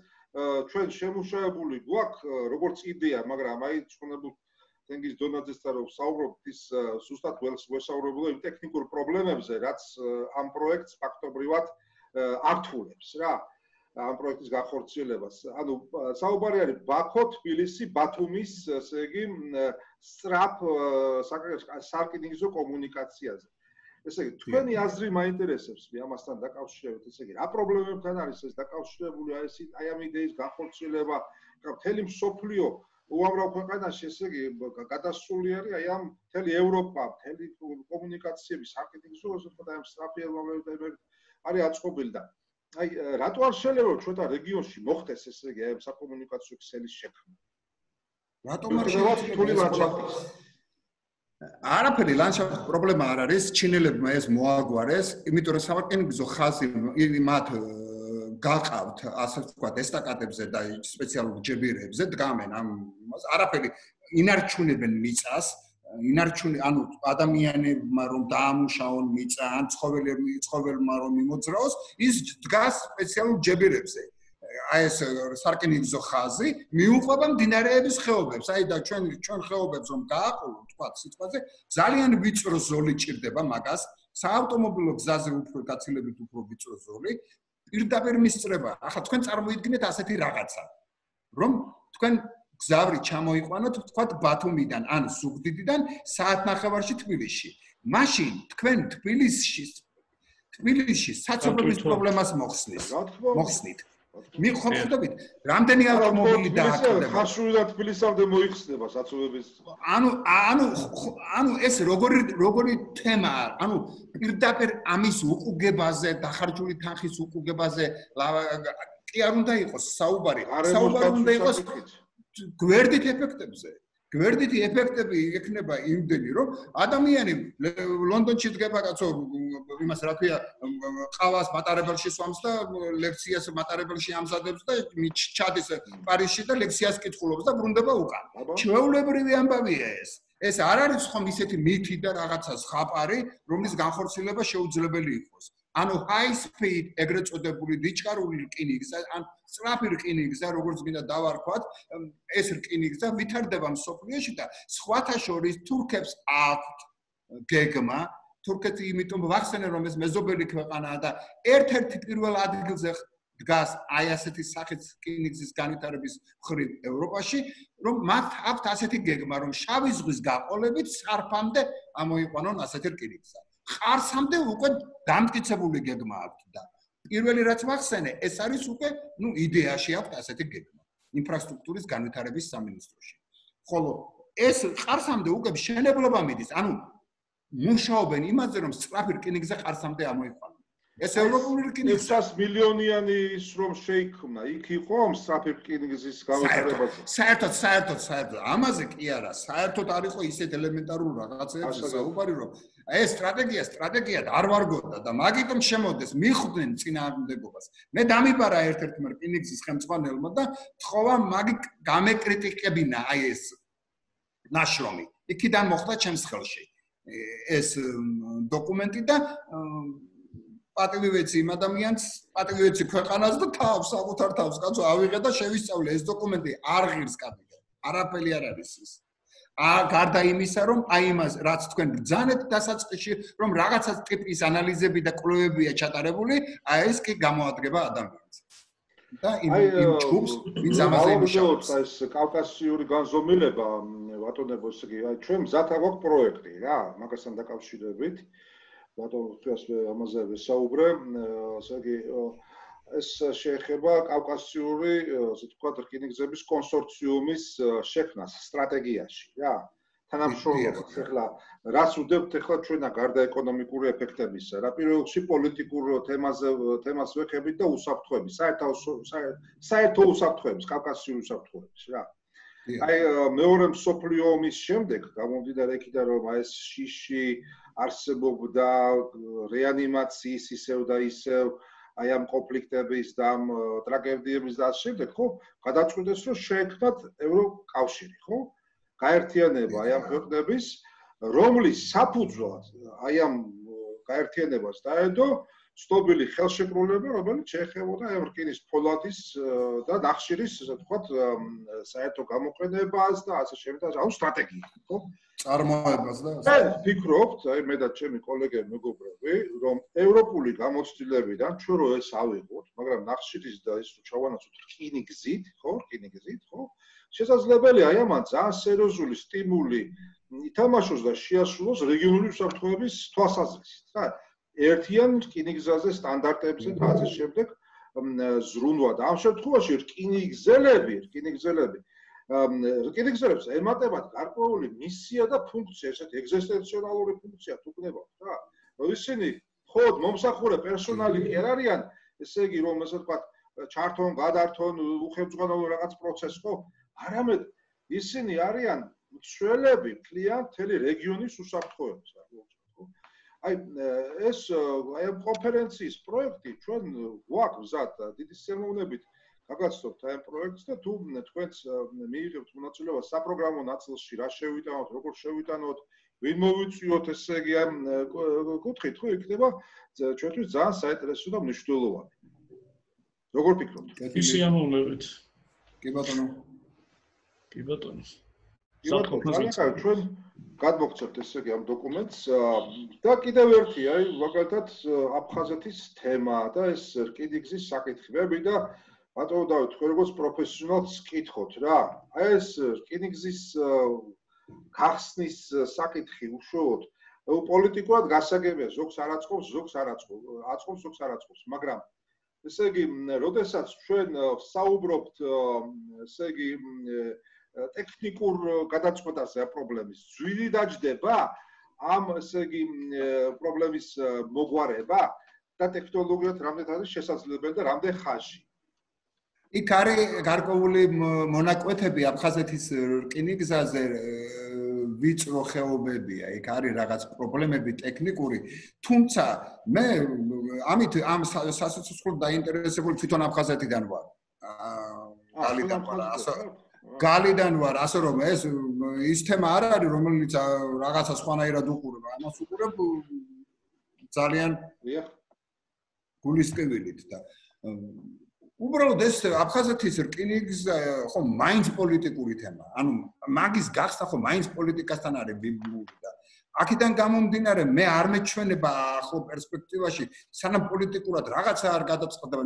ჩვენ შემუშავებული გვაქვს როგორც იდეა, მაგრამ აი ცხონებულ თენგიზ დონაძესთან რომ საუბრობთ ის ზუსტად ვესაუბრებულა იმ ტექნიკურ პრობლემებზე, რაც ამ პროექტს ფაქტობრივად ართულებს რა. ამ პროექტის განხორციელებას. ანუ საუბარი არის ბაქო, თბილისი, ბათუმის, ესე იგი, სწრაფ სარკინიგზო კომუნიკაციაზე. ესე იგი, თქვენი აზრი მაინტერესებს მე ამასთან დაკავშირებით, ესე იგი, რა პრობლემებთან არის ეს დაკავშირებული აი ამ იდეის განხორციელება, მთელი მსოფლიო უამრავ ქვეყანაში, ესე იგი, გადასული არის აი ამ მთელი ევროპა, მთელი კომუნიკაციების სარკინიგზო, ასე ვთქვათ, აი ამ სწრაფი ელმავებით არის აწყობილი და აი რატო არ შეიძლება რომ ჩვენთან რეგიონში მოხდეს ესე იგი აი საკომუნიკაციო ქსელის შექმნა? რატომ არ შეიძლება? არაფერი ლანდშაფტის პრობლემა არ არის, ჩინელებმა ეს მოაგვარეს, იმიტომ რომ სარკინიგზო ხაზი მათ გაყავთ, ასე ვთქვათ, ესტაკადებზე და სპეციალურ ჯებირებზე დგამენ ამ არაფერი ინარჩუნებენ მიწას ანუ ადამიანებმა რომ დაამუშაონ მიწა ან ცხოველმა რომ მიმოძრაოს ის დგას სპეციალურ ჯებირებზე აი ეს სარკინიგზო ხაზი მიუყვება მდინარეების ხეობებს აი და ჩვენ ხეობებს რომ გააყოლოთ თქვა სიტყვაზე ძალიან ვიწრო ზოლი ჭირდება მაგას საავტომობილო გზაზე უფრო გაცილებით უფრო ვიწრო ზოლი პირდაპირ მისწრება ახლა თქვენ წარმოიდგინეთ ასეთი რაღაცა რომ თქვენ გზავრი ჩამოიყვანოთ თქვათ ბათუმიდან ან ზუგდიდიდან საათნახევარში თბილისში. მაშინ თქვენ თბილისში საცხოვრებლის პრობლემას მოხსნით. მიხვდებით, რამდენი ავტომობილი დააკვირდება. ხარშულიდან თბილისამდე მოიხსნება საცხოვრების. ანუ ეს როგორი თემაა? ანუ პირდაპირ ამის უყუგებაზე, დახარჯული თანხის უყუგებაზე კი არ უნდა იყოს საუბარი. საუბარი უნდა იყოს გვერდით ეფექტებზე. გვერდითი ეფექტები იქნება იმდენი, რომ ადამიანი ლონდონში დგება კაცო, იმას რა ქვია, ყავას მატარებელში სვამს და ლექციას მატარებელში ამზადებს და ჩადის პარიზში და ლექციას კითხულობს და ბრუნდება უკან. ჩვეულებრივი ამბავია ეს. ეს არ არის ხომ ისეთი მითი და რაღაცა ზღაპარი, რომლის განხორციელება შეუძლებელი იყოს. ანუ high speed ეგრეთ წოდებული დიჩქარული რკინიგზა, ან სწრაფი რკინიგზა, როგორც მინდა დავარქვათ, ეს რკინიგზა ვითარდება მსოფლიოში და სხვათა შორის თურქებს აქვთ გეგმა, თურქეთი იმიტომ ვახსენე რომ ეს მეზობელი ქვეყანაა და ერთ-ერთი პირველ ადგილზე დგას აი ასეთი სახის რკინიგზის განვითარების მხრივ ევროპაში, რომ მათ აქვთ ასეთი გეგმა, რომ შავი ზღვის გაყოლებით სარფამდე ამოიყვანონ ასეთი რკინიგზა. ყარსამდე უკვე დამტკიცებული გეგმა აქვს და პირველი რაც მახსენე, ეს არის უკვე, იდეაში აქვს ასეთი გეგმა ინფრასტრუქტურის განვითარების სამინისტროში. ხოლო ეს ყარსამდე უკვე მშენებლობა მიდის, მუშაობენ იმაზე, რომ სწრაფი რკინიგზა ყარსამდე ამოიყვანონ. ეს ევროპული რკინიგზა 600 მილიონიანი ის რომ შეიქმნა, იქ იყო სწრაფი რკინიგზის განვითარებაზე. საერთოდ ამაზე კი არა, საერთოდ არ იყო ისეთ ელემენტარულ რაღაცებზე საუბარი, რომ ეს სტრატეგიად არ ვარგოდა და მაგიტომ შემოდეს მიხვდნენ წინააღმდეგობას. მე დამიბარა ერთ-ერთმა რკინიგზის ხელმძღვანელმა და თხოვა მაგი გამეკრიტიკებინა ეს ნაშრომი. იქიდან მოხდა ჩემს ხელში ეს დოკუმენტი და პატივი ვეცი იმ ადამიანს, პატივი ვეცი ქვეყანას და საკუთარ თავს კაცო ავიღე და შევისწავლე ეს დოკუმენტი არ ღირს კადრზე. არაფერი არ არის ის. გარდა იმისა, რომ იმას რაც თქვენ ბრძანეთ დასაწყისში, რომ რაღაცა ტიპის ანალიზები და კვლევებია ჩატარებული, ეს კი გამოადგება ადამიანს. და იმ ჯგუფს ვინც ამაზე იმუშავებს. ეს კავკასიური განზომილება, ბატონებო, ესე იგი, ჩვენ მზად აგვაქვს პროექტი რა, მაგასთან დაკავშირებით. ბატონო, ამაზე ვესაუბრე, ესე იგი, ეს შეეხება კავკასიური, ასე ვთქვათ, რკინიგზების კონსორციუმის შექმნას სტრატეგიაში, რა. თანამშრომლობას. ეხლა რას ვუდებთ ეხლა ჩვენა გარდა ეკონომიკური ეფექტებისა, რა პირველ რიგში პოლიტიკურ თემას ვეხებით და უსაფრთხოების, საერთო უსაფრთხოების, კავკასიური უსაფრთხოების, რა. მეორე მსოფლიო ომის შემდეგ გამომდინარე იქიდან რომ ეს შიში არსებობდა რეანიმაციის ისევ და ისევ ამ კონფლიქტების და ამ ტრაგედიების და შემდეგ, ხო, გადაწყვიტეს რომ შეექმნათ ევროკავშირი, ხო? გაერთიანება ამ ქვეყნების, რომლის საფუძვლად ამ გაერთიანებას დაედო ცნობილი ხელშეკრულება, რომელიც შეეხებოდა ამ რკინის ფოლადის და ნახშირის, ასე ვთქვათ, საერთო გამოყენებას და ასე შემდეგ, სტრატეგია, ხო? წარმოებას და მე ვფიქრობთ, მე და ჩემი კოლეგები მეგობრები, რომ ევროპული გამოცდილებიდან ჩვენ რო ეს ავიღოთ, მაგრამ ნახშირის და ის ჩავანაცვლოთ რკინიგზით, ხო, შესაძლებელია ამან ძალიან სერიოზული სტიმული ითამაშოს და შეასრულოს რეგიონული უსაფრთხოების თვალსაზრისით, რა. ერთიან რკინიგზაზე სტანდარტებზე და ასე შემდეგ ზრუნვა და ამ შემთხვევაში რკინიგზელებს ემატებათ გარკვეული მისია და ფუნქცია, ესეთი ეგზისტენციონალური ფუნქცია თუ გნებავთ, რა. ისინი მხოლოდ მომსახურე პერსონალი კი არ არიან, ესე იგი რომ ესე ვთქვათ, ჩართონ, გადართონ, უხელმძღვანელო რაღაც პროცესს, ხო? არამედ ისინი არიან მცველები მთლიან მთელი რეგიონის უსაფრთხოებას, რა. ეს ამ კონფერენციის პროექტი ჩვენ გვაქვს მზად და დიდი სიამოვნებით გაგაცნობთ ამ პროექტს და თუ თქვენს მიიღებთ მონაწილეობა საპროგრამო ნაწილში, რა შევიტანოთ, როგორ შევიტანოთ, ვინ მოვიწვიოთ, ესე იგი ამ კუთხით, ხო, იქნება ჩვენთვის ძალიან საინტერესო და მნიშვნელოვანი. როგორ ფიქრობთ? სიამოვნებით. კი ბატონო. ჩვენ გადმოგცემთ ესე იგი ამ დოკუმენტს და კიდევ ერთი, მაგალითად, აფხაზეთის თემა და ეს რკინიგზის საკითხები და ბატონო დავით, თქვენ როგორც პროფესიონალს კითხოთ რა. ეს რკინიგზის გახსნის საკითხი უშუალოდ პოლიტიკურად გასაგებია, ზოგს არ აწყობს, ზოგს არ აწყობს, მაგრამ ესე იგი, როდესაც ჩვენ საუბრობთ, ესე იგი, ტექნიკურ გადაწყვეტაზე ამ პრობლემის, ძვირი დაждდება ამ ესე იგი პრობლემის მოგვარება და ტექნოლოგიად რამდენად არის შესაძლებელი და რამდენ ხანში. იქ არის გარკვეული მონაკვეთები აფხაზეთის რკინიგზაზე ვიწრო ხეობებია, იქ არის რაღაც პრობლემები ტექნიკური, თუმცა მე ამით ამ სასიცოცხლოდ დაინტერესებული თვითონ აფხაზეთიდან ვარ. გალიდან ვარ, ასე რომ ეს ის თემა არ არის, რომელიც რაღაცა სხვანაირად უყურებ, ამას უყურებ ძალიან გულისკევილით და უბრალოდ ეს აფხაზეთის რკინიგზა ხო მაინც პოლიტიკური თემა. ანუ მაგის გახსნა ხო მაინც პოლიტიკასთან არის ბიბლიური და აქედან გამომდინარე მე არ მეჩვენება ახლა პერსპექტივაში სანამ პოლიტიკურად რაღაცა არ გადაწყდება.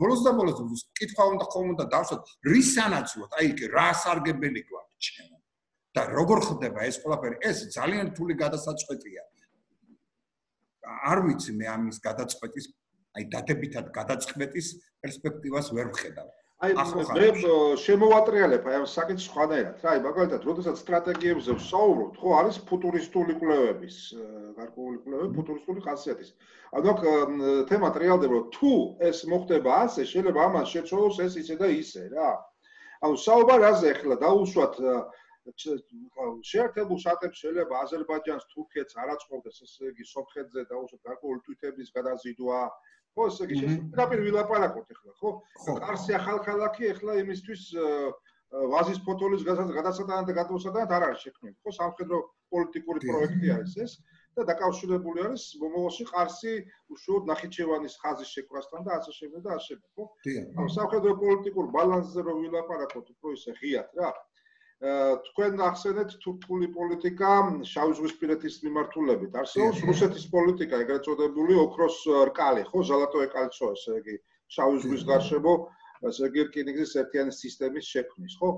ბოლოს და ბოლოს კითხვა უნდა ხომ უნდა დავსვათ რის სანაცვლოდ, აი რა სარგებელი გვაქვს ჩვენ და როგორ ხდება ეს ყველაფერი. ეს ძალიან რთული გადასაწყვეტია. არ ვიცი მე ამის გადაწყვეტის აი დადებითად გადაწყვეტის პერსპექტივას ვერ ვხედავ. აი მე შემოვატრიალებ აი ამ საკითხს სხვანაირად რა, აი მაგალითად, როდესაც სტრატეგიებზე ვსაუბრობთ, ხო, არის ფუტურისტული კვლევების, გარკვეული კვლევები ფუტურისტული ხასიათის. ანუ აქ თემა ტრიალდება, რომ თუ ეს მოხდება ასე, შეიძლება ამას შეცვალოს ეს ისე და ისე რა. ანუ საუბარი რაზე ახლა დაუშვათ შეერთებულ შტატებს შეიძლება აზერბაიჯანს, თურქეთს არ აწყობდეს ესე იგი სომხეთზე დაუშვათ გარკვეული თვითების გადაზიდვა. ხო, ესე იგი შესაძლოა ვილაპარაკოთ ახლა, ხო? კარსი ახალქალაქი ახლა იმისთვის ვაზის ფოთოლის გადასატანად და გადმოსატანად არ არის შექმნილი, ხო? სამხედრო პოლიტიკური პროექტი არის ეს და დაკავშირებული არის მომავალში ყარსი უშუალოდ ნახიჩევანის ხაზის შეკვრასთან და ასე შემდეგ და ასე შემდეგ, ხო? ანუ სამხედრო პოლიტიკურ ბალანსზე რომ ვილაპარაკოთ, უფრო ისე ღიად რა. თქვენ ახსენეთ თურქული პოლიტიკა შავიზღვისპირეთის მიმართულებით. არსებობს რუსეთის პოლიტიკა, ეგრეთ წოდებული ოქროს რკალი, ხო, ზალატოე კალცო, ესე იგი, შავი ზღვის გარშემო, ესე იგი, რკინიგზის ერთიანი სისტემის შექმნის, ხო?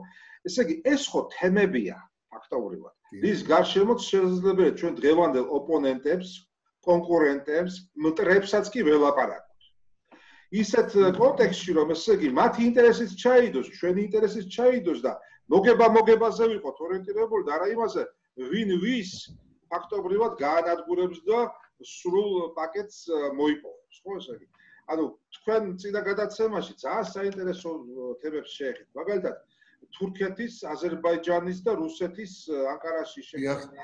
ესე იგი, ეს ხო თემებია, ფაქტობრივად. რის გარშემოც შესაძლებელია ჩვენ დღევანდელ ოპონენტებს, კონკურენტებს, მტრებსაც კი ველაპარაკოთ. ისეთ კონტექსტში, რომ ესე იგი, მათი ინტერესიც ჩაიდოს, ჩვენი ინტერესიც ჩაიდოს და მოგებაზე ვიყოთ ორიენტირებული და არა იმაზე, ვინ ვის ფაქტობრივად გაანადგურებს და სრულ პაკეტს მოიპოვებს, ხო ესე იგი. ანუ თქვენ წინა გადაცემაში ძალიან საინტერესო თემებს შეეხეთ. მაგალითად, თურქეთის, აზერბაიჯანის და რუსეთის ანკარაში შეხვედრა,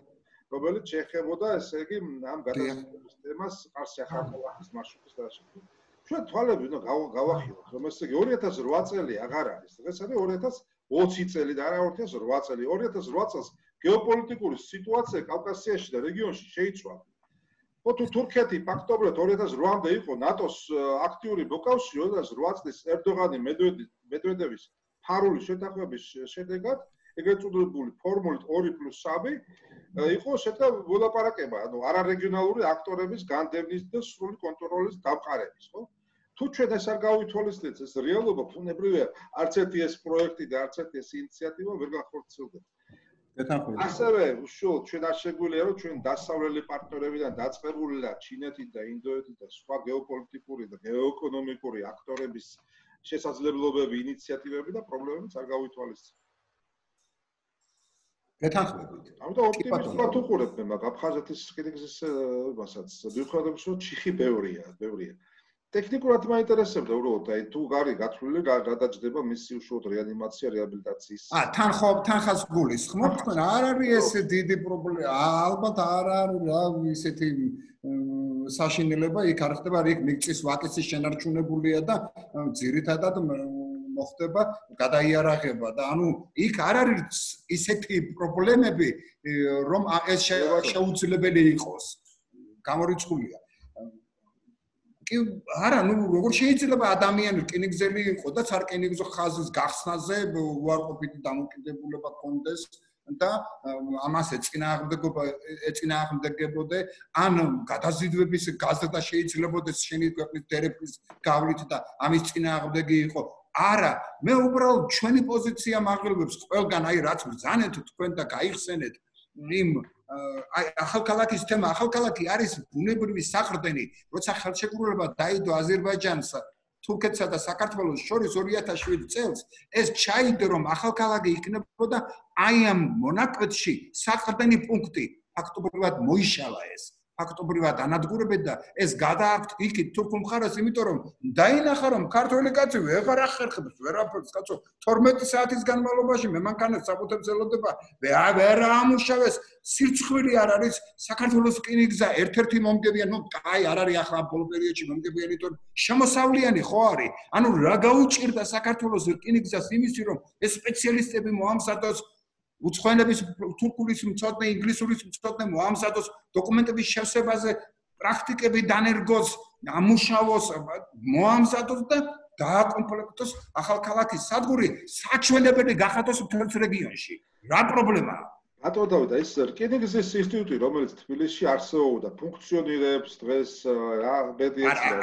რომელიც შეეხებოდა ესე იგი ამ გადაცემის თემას ყარსი ახალქალაქის მარშრუტის გადაშენებას. ჩვენ თვალები უნდა გავახილოთ, რომ ესე იგი 2008 წელი აღარ არის. დღეს არის 2020 წელი და არა 2008 წელი. 2008 წელს გეოპოლიტიკური სიტუაცია კავკასიაში და რეგიონში შეიცვალა. ხო თუ თურქეთი ფაქტობრივად 2008-მდე იყო ნატოს აქტიური მოკავშირე, 2008 წლის ერდოღანი მედვედევის ფარული შეთანხმების შედეგად, ეგრეთ წოდებული ფორმულით 2+3 იყო შეტა ველაპარაკება, ანუ არარეგიონალური აქტორების განდევნის და სრული კონტროლის დამყარების, ხო? თუ ჩვენ ეს არ გავითვალისწინებთ, ეს რეალობა ბუნებრივია, არც ერთი ეს პროექტი და არც ერთი ეს ინიციატივა ვერ განხორციელდება. ასევე უშუალოდ ჩვენ არ შეგვიძლია რომ ჩვენ დასავლელი პარტნიორებიდან დაწყებული და ჩინეთით და ინდოეთით და სხვა გეოპოლიტიკური და გეოეკონომიკური აქტორების შესაძლებლობები, ინიციატივები და პრობლემებიც არ გავითვალისწინებთ. გეთანხმებით. ამიტომ ოპტიმიზმად უყურებ მე მაგ აფხაზეთის რკინიგზის მასაც. მიუხედავად იმისა, რომ ჩიხი ბევრია. ტექნიკურად მაინტერესებდა უბრალოდ, აი თუ გარი გათვლილი გადაჭდება მისი უშუალოდ რეანიმაცია, რეაბილიტაციის. თან ხას გულისხმობ, თქვენ არ არის ეს დიდი პრობლემა, ალბათ არ არის რა ისეთი საშინელება იქ არ ხდება, იქ მიწის ვაკეცი შენარჩუნებულია და ძირითადად მოხდება გადაიარაღება და ანუ იქ არ არის ისეთი პრობლემები, რომ ეს შეუძლებელი იყოს. გამორიცხულია. კი არა, ნუ როგორ შეიძლება ადამიანი რკინიგზელი იყო და სარკინიგზო ხაზის გახსნაზე უარყოფითი დამოკიდებულება ჰქონდეს და ამას ეწინააღმდეგებოდა ან გადაზიდვების გაზრდა შეიძლებაოდეს შენი ქვეყნის დერეფის გავლით და ამის წინააღმდეგი იყო. არა, მე უბრალოდ ჩვენი პოზიცია მაღლებებს ყველგან, აი რაც ბრძანეთ თქვენ და გაიხსენეთ იმ აი ახალქალაქის თემა, ახალქალაქი არის ბუნებრივი საყრდენი, როცა ხელშეკრულება დაიდო აზერბაიჯანს, თურქეთსა და საქართველოს შორის 2007 წელს, ეს ჩაიდო რომ ახალქალაქი იქნებოდა აი ამ მონაკვეთში საყრდენი პუნქტი, ფაქტობრივად მოიშალა ეს. ფაქტობრივად ანადგურებენ და ეს გადააქვთ იქით თურქულ მხარეს, იმიტომ რომ დაინახა რომ ქართველი კაცი ვეღარ ახერხებს ვერაფერს, კაცო 12 საათის განმავლობაში მე მანქანას საფუძვლებს ელოდება, ვერ ამუშავეს, სირცხვილი არ არის საქართველოს რკინიგზა ერთ-ერთი მომგებიანი, ნუ კაი არ არის ახლა ბოლო პერიოდში მომგებიანი, თორემ შემოსავლიანი ხო არის. ანუ რა გაუჭირდა საქართველოს რკინიგზას იმისი რომ ეს სპეციალისტები მოამზადოს უცხოენების თურქულის მცოდნე, ინგლისურის მცოდნე მოამზადოს დოკუმენტების შევსებაზე პრაქტიკები დანერგოს, ამუშავოს, მოამზადოს და დააკომპლექტოს ახალქალაქის სადგური საჩვენებელი გახადოს მთელს რეგიონში. რა პრობლემაა? ბატონო დავით, ეს რკინიგზის ინსტიტუტი, რომელიც თბილისში არსებობდა, ფუნქციონირებს დღეს რა ბედიაცია.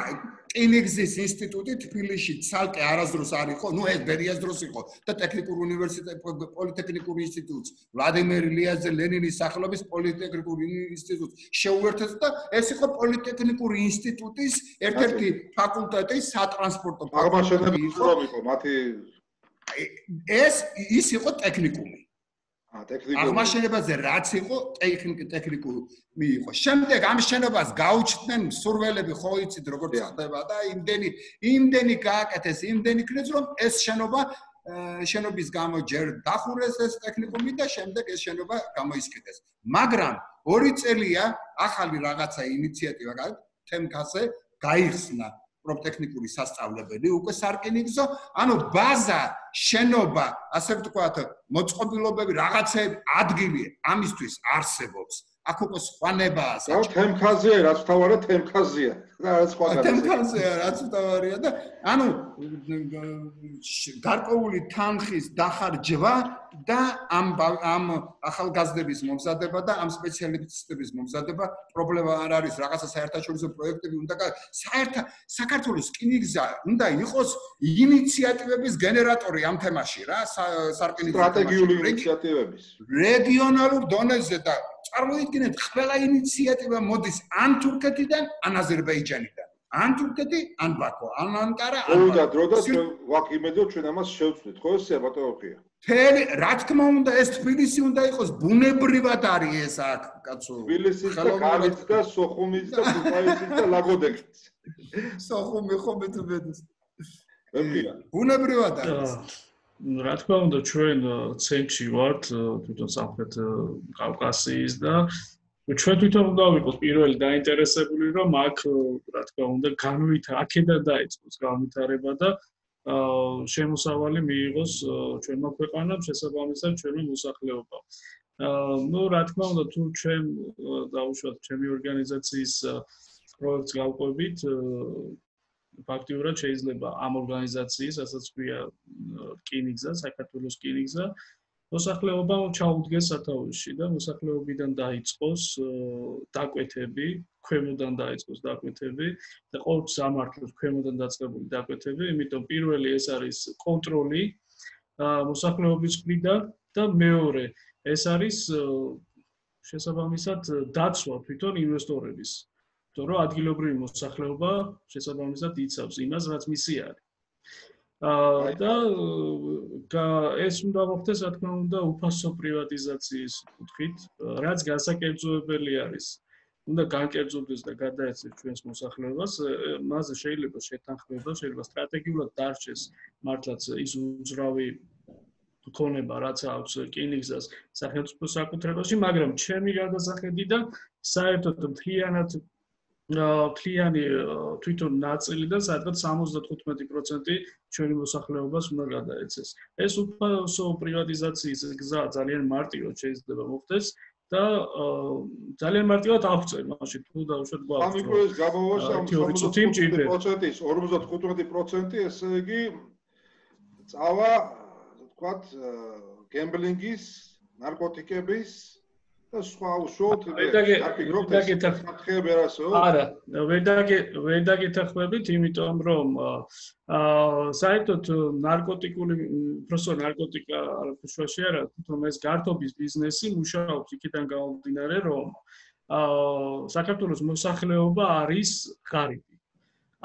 რკინიგზის ინსტიტუტი თბილისში ცალკე არასდროს არ იყო, ნუ ეს ბერიას დროს იყო და ტექნიკურ უნივერსიტეტ პოლიტექნიკურ ინსტიტუტს, ვლადიმერ ილიაძე ლენინის სახელობის პოლიტექნიკურ ინსტიტუტს შეუერთეს და ეს იყო პოლიტექნიკური ინსტიტუტის ერთ-ერთი ფაკულტეტი, სატრანსპორტო აღმაშენებელი იყო მათი ის იყო ტექნიკუმი. აღმაშენებაზე რაც იყო ტექნიკუმი იყო. შემდეგ ამ შენობას გაუჩნდნენ მსურველები, ხო იცით როგორც ხდება და იმდენი გააკეთეს, იმდენი ქნეს რომ ეს შენობის გამო ჯერ დახურეს ეს ტექნიკუმი და შემდეგ ეს შენობა გამოისკიდეს. მაგრამ 2 წელია ახალი რაღაცა ინიციატივა თემქაზე გაიხსნა პროფტექნიკური სასწავლებელი უკვე სარკინიგზო, ანუ ბაზა, შენობა, ასე ვთქვათ, მოწყობილობები, რაღაცები, ადგილი ამისთვის არსებობს. აქ უკვე სხვანებაა. თემქაზია, რაც თავარია თემქაზია. რა სხვა თემქაზია, რაც თავარია და ანუ გარკვეული თანხის დახარჯვა და ამ ახალგაზრდების მომზადება და ამ სპეციალისტების მომზადება პრობლემა არ არის. რაღაცა საერთაშორისო პროექტები უნდა საქართველოს რკინიგზა უნდა იყოს ინიციატივების გენერატორი ამ თემაში რა, სარკინიგზო სტრატეგიული ინიციატივების. რეგიონალურ დონეზე და წარმოიდგინეთ, ყველა ინიციატივა მოდის ან თურქეთიდან, ან აზერბაიჯანიდან. ან თურქეთი, ან ბაქო, ან ანკარა, ან და დრო და ვაკ იმედო ჩვენ ამას შევწვით, ხო ესეა ბატონოქია. რა თქმა უნდა, ეს თბილისი უნდა იყოს ბუნებრივად არის ეს აქ, კაცო. თბილისის და კარის და სოხუმის და ქუთაისის და ლაგოდეკის. სოხუმი ხო მეტუბედეს. მემია. ბუნებრივად არის. რა თქმა უნდა, ჩვენ ცენტრში ვართ, თვითონ სამხრეთ კავკასიის და ჩვენ თვითონ უნდა ვიყოთ პირველი დაინტერესებული, რომ აქ რა თქმა უნდა აქედან დაიწყოს განვითარება და შემოსავალი მიიღოს ჩვენმა ქვეყანამ, შესაბამისად ჩვენმა მოსახლეობამ. ნუ რა თქმა უნდა, თუ ჩვენ დავუშვათ ჩემი ორგანიზაციის პროექტს გავყვებით, ფაქტიურად შეიძლება ამ ორგანიზაციის, ასაც ქვია რკინიგზა, საქართველოს რკინიგზა, მოსახლეობამ ჩაუდგეს სათავეში და მოსახლეობიდან დაიწყოს დაკვეთები, ქვემოდან დაიწყოს დაკვეთები და ყოველთვის ამართლებს ქვემოდან დაწყებული დაკვეთები, იმიტომ პირველი ეს არის კონტროლი მოსახლეობის მხრიდან და მეორე ეს არის შესაბამისად დაცვა თვითონ ინვესტორების. იმიტომ რომ ადგილობრივი მოსახლეობა შესაბამისად იცავს იმას, რაც მისი არის. და ეს უნდა მოხდეს, რა თქმა უნდა, უფასო პრივატიზაციის კუთხით, რაც განსაკერწოებელი არის. უნდა განკერწოდეს და გადაეცეს ჩვენს მოსახლეობას, მასზე შეიძლება შეთანხმება, შეიძლება სტრატეგიულად დარჩეს მართლაც ის უძრავი ქონება, რაც აქვს რკინიგზას სახელმწიფო საკუთრებაში, მაგრამ ჩემი გადასახედიდან საერთოდ მთლიანი თვითონ ნაწილი და სადღაც 75% ჩვენი მოსახლეობას უნდა გადაეცეს. ეს უფასო პრივატიზაციის გზა ძალიან მარტივად შეიძლება მოხდეს და ძალიან მარტივად აღწევ, მაშინ თუ დავუშვათ გვაქვს. ამ იქოს გამოვაშა 55%, ესე იგი წავა, თქვათ, გემბლინგის, ნარკოტიკების და სხვა უშუალოდ საფრთხეები არასო? არა, ვერ დაგეთანხმებით, იმიტომ რომ საერთოდ ნარკოტიკული, უბრალოდ ნარკოტიკა არაფერში არა, თვითონ ეს გართობის ბიზნესი მუშაობს იქიდან გამომდინარე, რომ საქართველოს მოსახლეობა არის ღარიბი.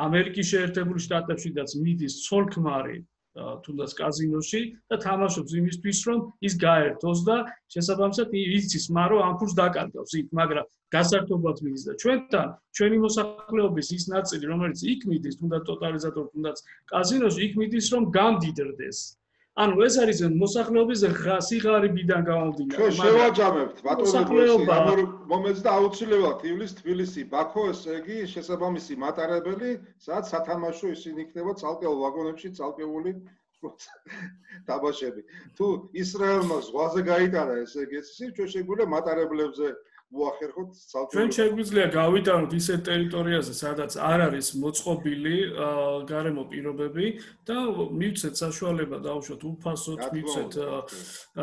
ამერიკის შეერთებული შტატებშიც მიდის ცოლ-ქმარი თუნდაც კაზინოში და თამაშობს იმისთვის, რომ ის გაერთოს და შესაბამისად იცის, მაგრამ ამ ფულს დაკარგავს იქ, მაგრამ გასართობად მიდის და ჩვენთან, ჩვენი მოსახლეობის ის ნაწილი, რომელიც იქ მიდის, თუნდაც ტოტალიზატორ, თუნდაც კაზინოში, იქ მიდის, რომ გამდიდრდეს. ანუ ეს არის მოსახლეობის სიღარიბიდან გამომდინარე. ჩვენ შევაჯამებთ ბატონო ამ მომენტს და აუცილებლად ივლის თბილისი, ბაქო, ესე იგი შესაბამისი მატარებელი, სადაც სათამაშო ისინი იქნება ცალკეულ ვაგონებში ცალკეული თამაშები. თუ ისრაელმა ზღვაზე გაიტარა, ესე იგი, ჩვენ შეგვიძლია მატარებლებზე მოახერხოთ ჩვენ ძალდრობლივ. შეგვიძლია გავიტანოთ ისეთ ტერიტორიაზე, სადაც არ არის მოწყობილი გარემო პირობები და მივცეთ საშუალება დავუშვათ უფასოდ, მივცეთ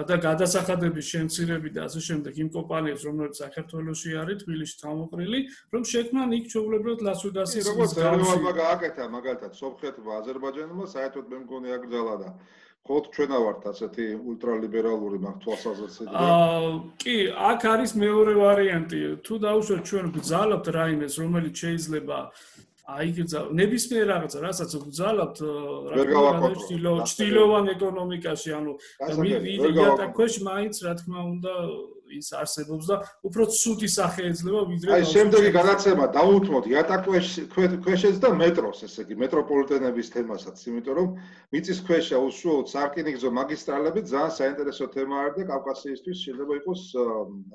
და გადასახადების შემცირები და ასე შემდეგ იმ კომპანიებს, რომლებიც საქართველოში არის, თბილისში თავმოყრილი, რომ შექმნან იქ ჩვეულებრივად ლას-ვეგასის როგორც ერევანმა გააკეთა მაგალითად სომხეთმა, აზერბაიჯანმა, საერთოდ მე მგონი აკრძალა და ხოთ ჩვენა ვართ ასეთი ულტრალიბერალური მაგ თვალსაზრისით. კი, აქ არის მეორე ვარიანტი. თუ დავუშვათ ჩვენ გძალავთ რაიმეს, რომელიც შეიძლება ნებისმიერ რაღაცა, რასაც გძალავთ, ჩtildeოვან ეკონომიკაში, ანუ იატაკ ქვეშ მაინც რა თქმა უნდა ის არსებობს და უფრო ცუდი სახე ეძლევა ვიდრე აი შემდეგი გადაცემა დაუთმოთ იატაკ ქვეშეც და მეტროს, ესე იგი მეტროპოლიტენების თემასაც, იმიტომ რომ მიწისქვეშა უშუალოდ სარკინიგზო მაგისტრალები ძალიან საინტერესო თემა არის და კავკასიისთვის შეიძლება იყოს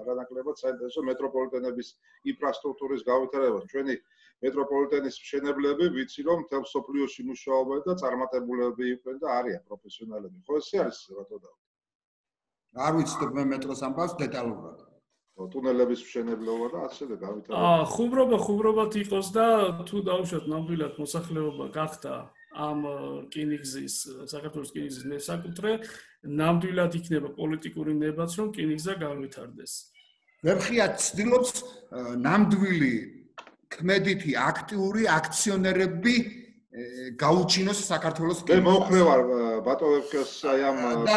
არანაკლებად საინტერესო მეტროპოლიტენების ინფრასტრუქტურის გავითარება. ჩვენი მეტროპოლიტენის მშენებლები ვიცი რომ მთელ სოფლიოში მუშაობენ და წარმატებულები იყვნენ და არიან პროფესიონალები. ხო ესე არის რატო? არ ვიცით მე მეტროს ამბავს დეტალურად. ტუნელების მშენებლობა და ასე და გავითარება. ხუმრობად იყოს და თუ დავუშვათ ნამდვილად მოსახლეობა გახდა ამ რკინიგზის საქართველოს რკინიგზის მესაკუთრე, ნამდვილად იქნება პოლიტიკური ნებაც რომ რკინიგზა განვითარდეს. ვერხია ცდილობს ნამდვილი ქმედითი აქტიური აქციონერები გაუჩინოს საქართველოს მე მოხმე ვარ ბატონებს აი ამ და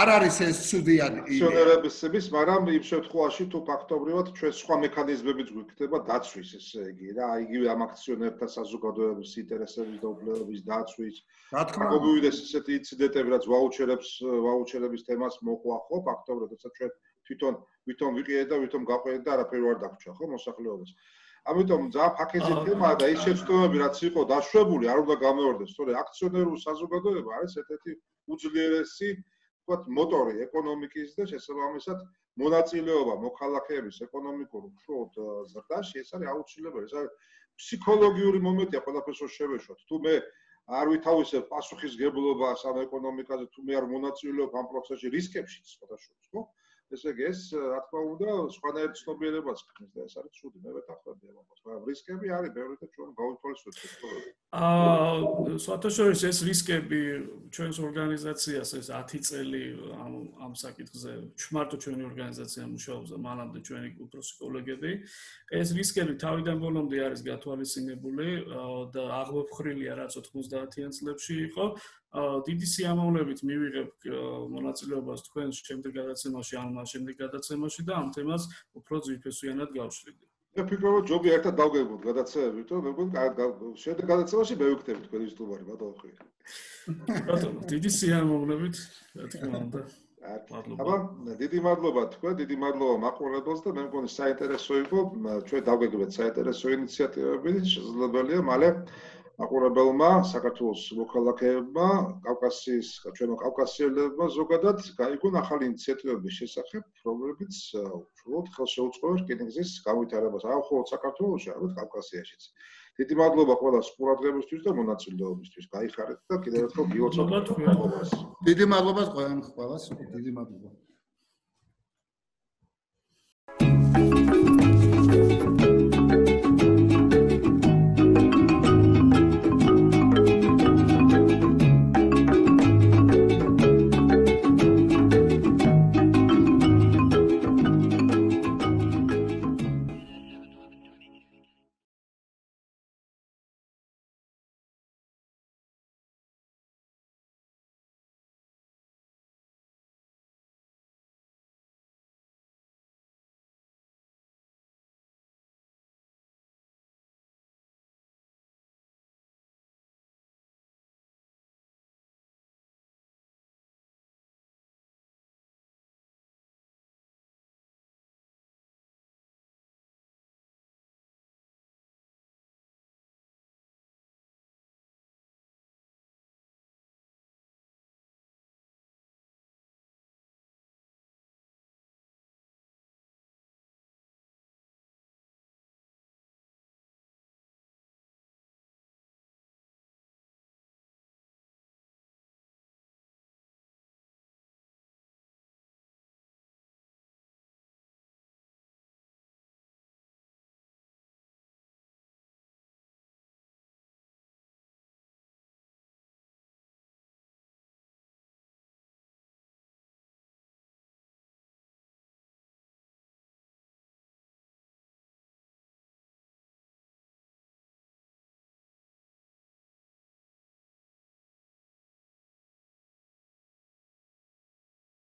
არ არის ეს ცუდი აქციონერების, მაგრამ იმ შემთხვევაში თუ ფაქტობრივად ჩვენ სხვა მექანიზმებიც გვიქნება დაცვის, ესე იგი რა, იგივე ამ აქციონერთა საზოგადოების ინტერესების და უფლებების დაცვის. რა თქმა უნდა, მოგივიდეს ესეთი ინციდენტები, რაც ვაუჩერების თემას მოყვა ხო, ფაქტობრივად, როცა ჩვენ თვითონ ვიყიეთ და თვითონ გავყიდეთ და არაფერი არ დაგვრჩა ხო მოსახლეობას. ამიტომ ძალიან ფაქეზი თემაა და ის შეცდომები რაც იყო დაშვებული არ უნდა გამეორდეს, თორე აქციონერული საზოგადოება არის ერთ-ერთი უძლიერესი, ვთქვათ, მოტორი ეკონომიკის და შესაბამისად მონაწილეობა მოქალაქეების ეკონომიკურ უშუალოდ ზრდაში ეს არის აუცილებელი. ეს არის ფსიქოლოგიური მომენტია ყველაფერს რო შევეშოთ. თუ მე არ ვითავისებ პასუხისგებლობას ამ ეკონომიკაზე, თუ მე არ მონაწილეობ ამ პროცესში რისკებშიც სხვადასხვა, ხო? ესე იგი ეს რა თქმა უნდა სხვანაირ ცნობიერებას ქმნის და ეს არის ცუდი მე ვეთანხმები ამას მაგრამ რისკები არის ბევრი და ჩვენ გავითვალისწინოთ ეს საერთაშორისო ეს რისკები ჩვენს ორგანიზაციას ეს 10 წელი ამ საკითხზე მარტო ჩვენი ორგანიზაცია მუშაობს და მანამდე ჩვენი უფროსი კოლეგები ეს რისკები თავიდან ბოლომდე არის გათვალისწინებული და აღმოფხრილია რაც 90-იან წლებში იყო დიდი სიამოვნებით მივიღებ მონაწილეობას თქვენს შემდეგ გადაცემაში ან მას შემდეგ გადაცემაში და ამ თემას უფრო ძირფესვიანად გავშლიდი. მე ფიქრობ რომ ჯობია ერთად დავგებოთ გადაცემებით, რომ მე მგონი შემდეგ გადაცემაში მე ვიქნებით თქვენი სტუმარი ბატონო ხვი. ბატონო, დიდი სიამოვნებით, რა თქმა უნდა. აბა, დიდი მადლობა თქვენ, დიდი მადლობა მაყურებელს და მე მგონი საინტერესო იყო, ჩვენ დავგებთ საინტერესო ინიციატივები, შესაძლებელია მალე აყურებელმა საქართველოს მოქალაქეებმა, ჩვენო კავკასიელებმა ზოგადად გაიგონ ახალი ინიციატივების შესახებ, რომლებიც უშუალოდ ხელს შეუწყობენ რკინიგზის განვითარებას, არა მხოლოდ საქართველოში, არამედ კავკასიაშიც. დიდი მადლობა ყველას ყურადღებისთვის და მონაწილეობისთვის. გაიხარეთ და კიდევ ერთხელ გილოცავთ. დიდი მადლობა ყველას. დიდი მადლობა.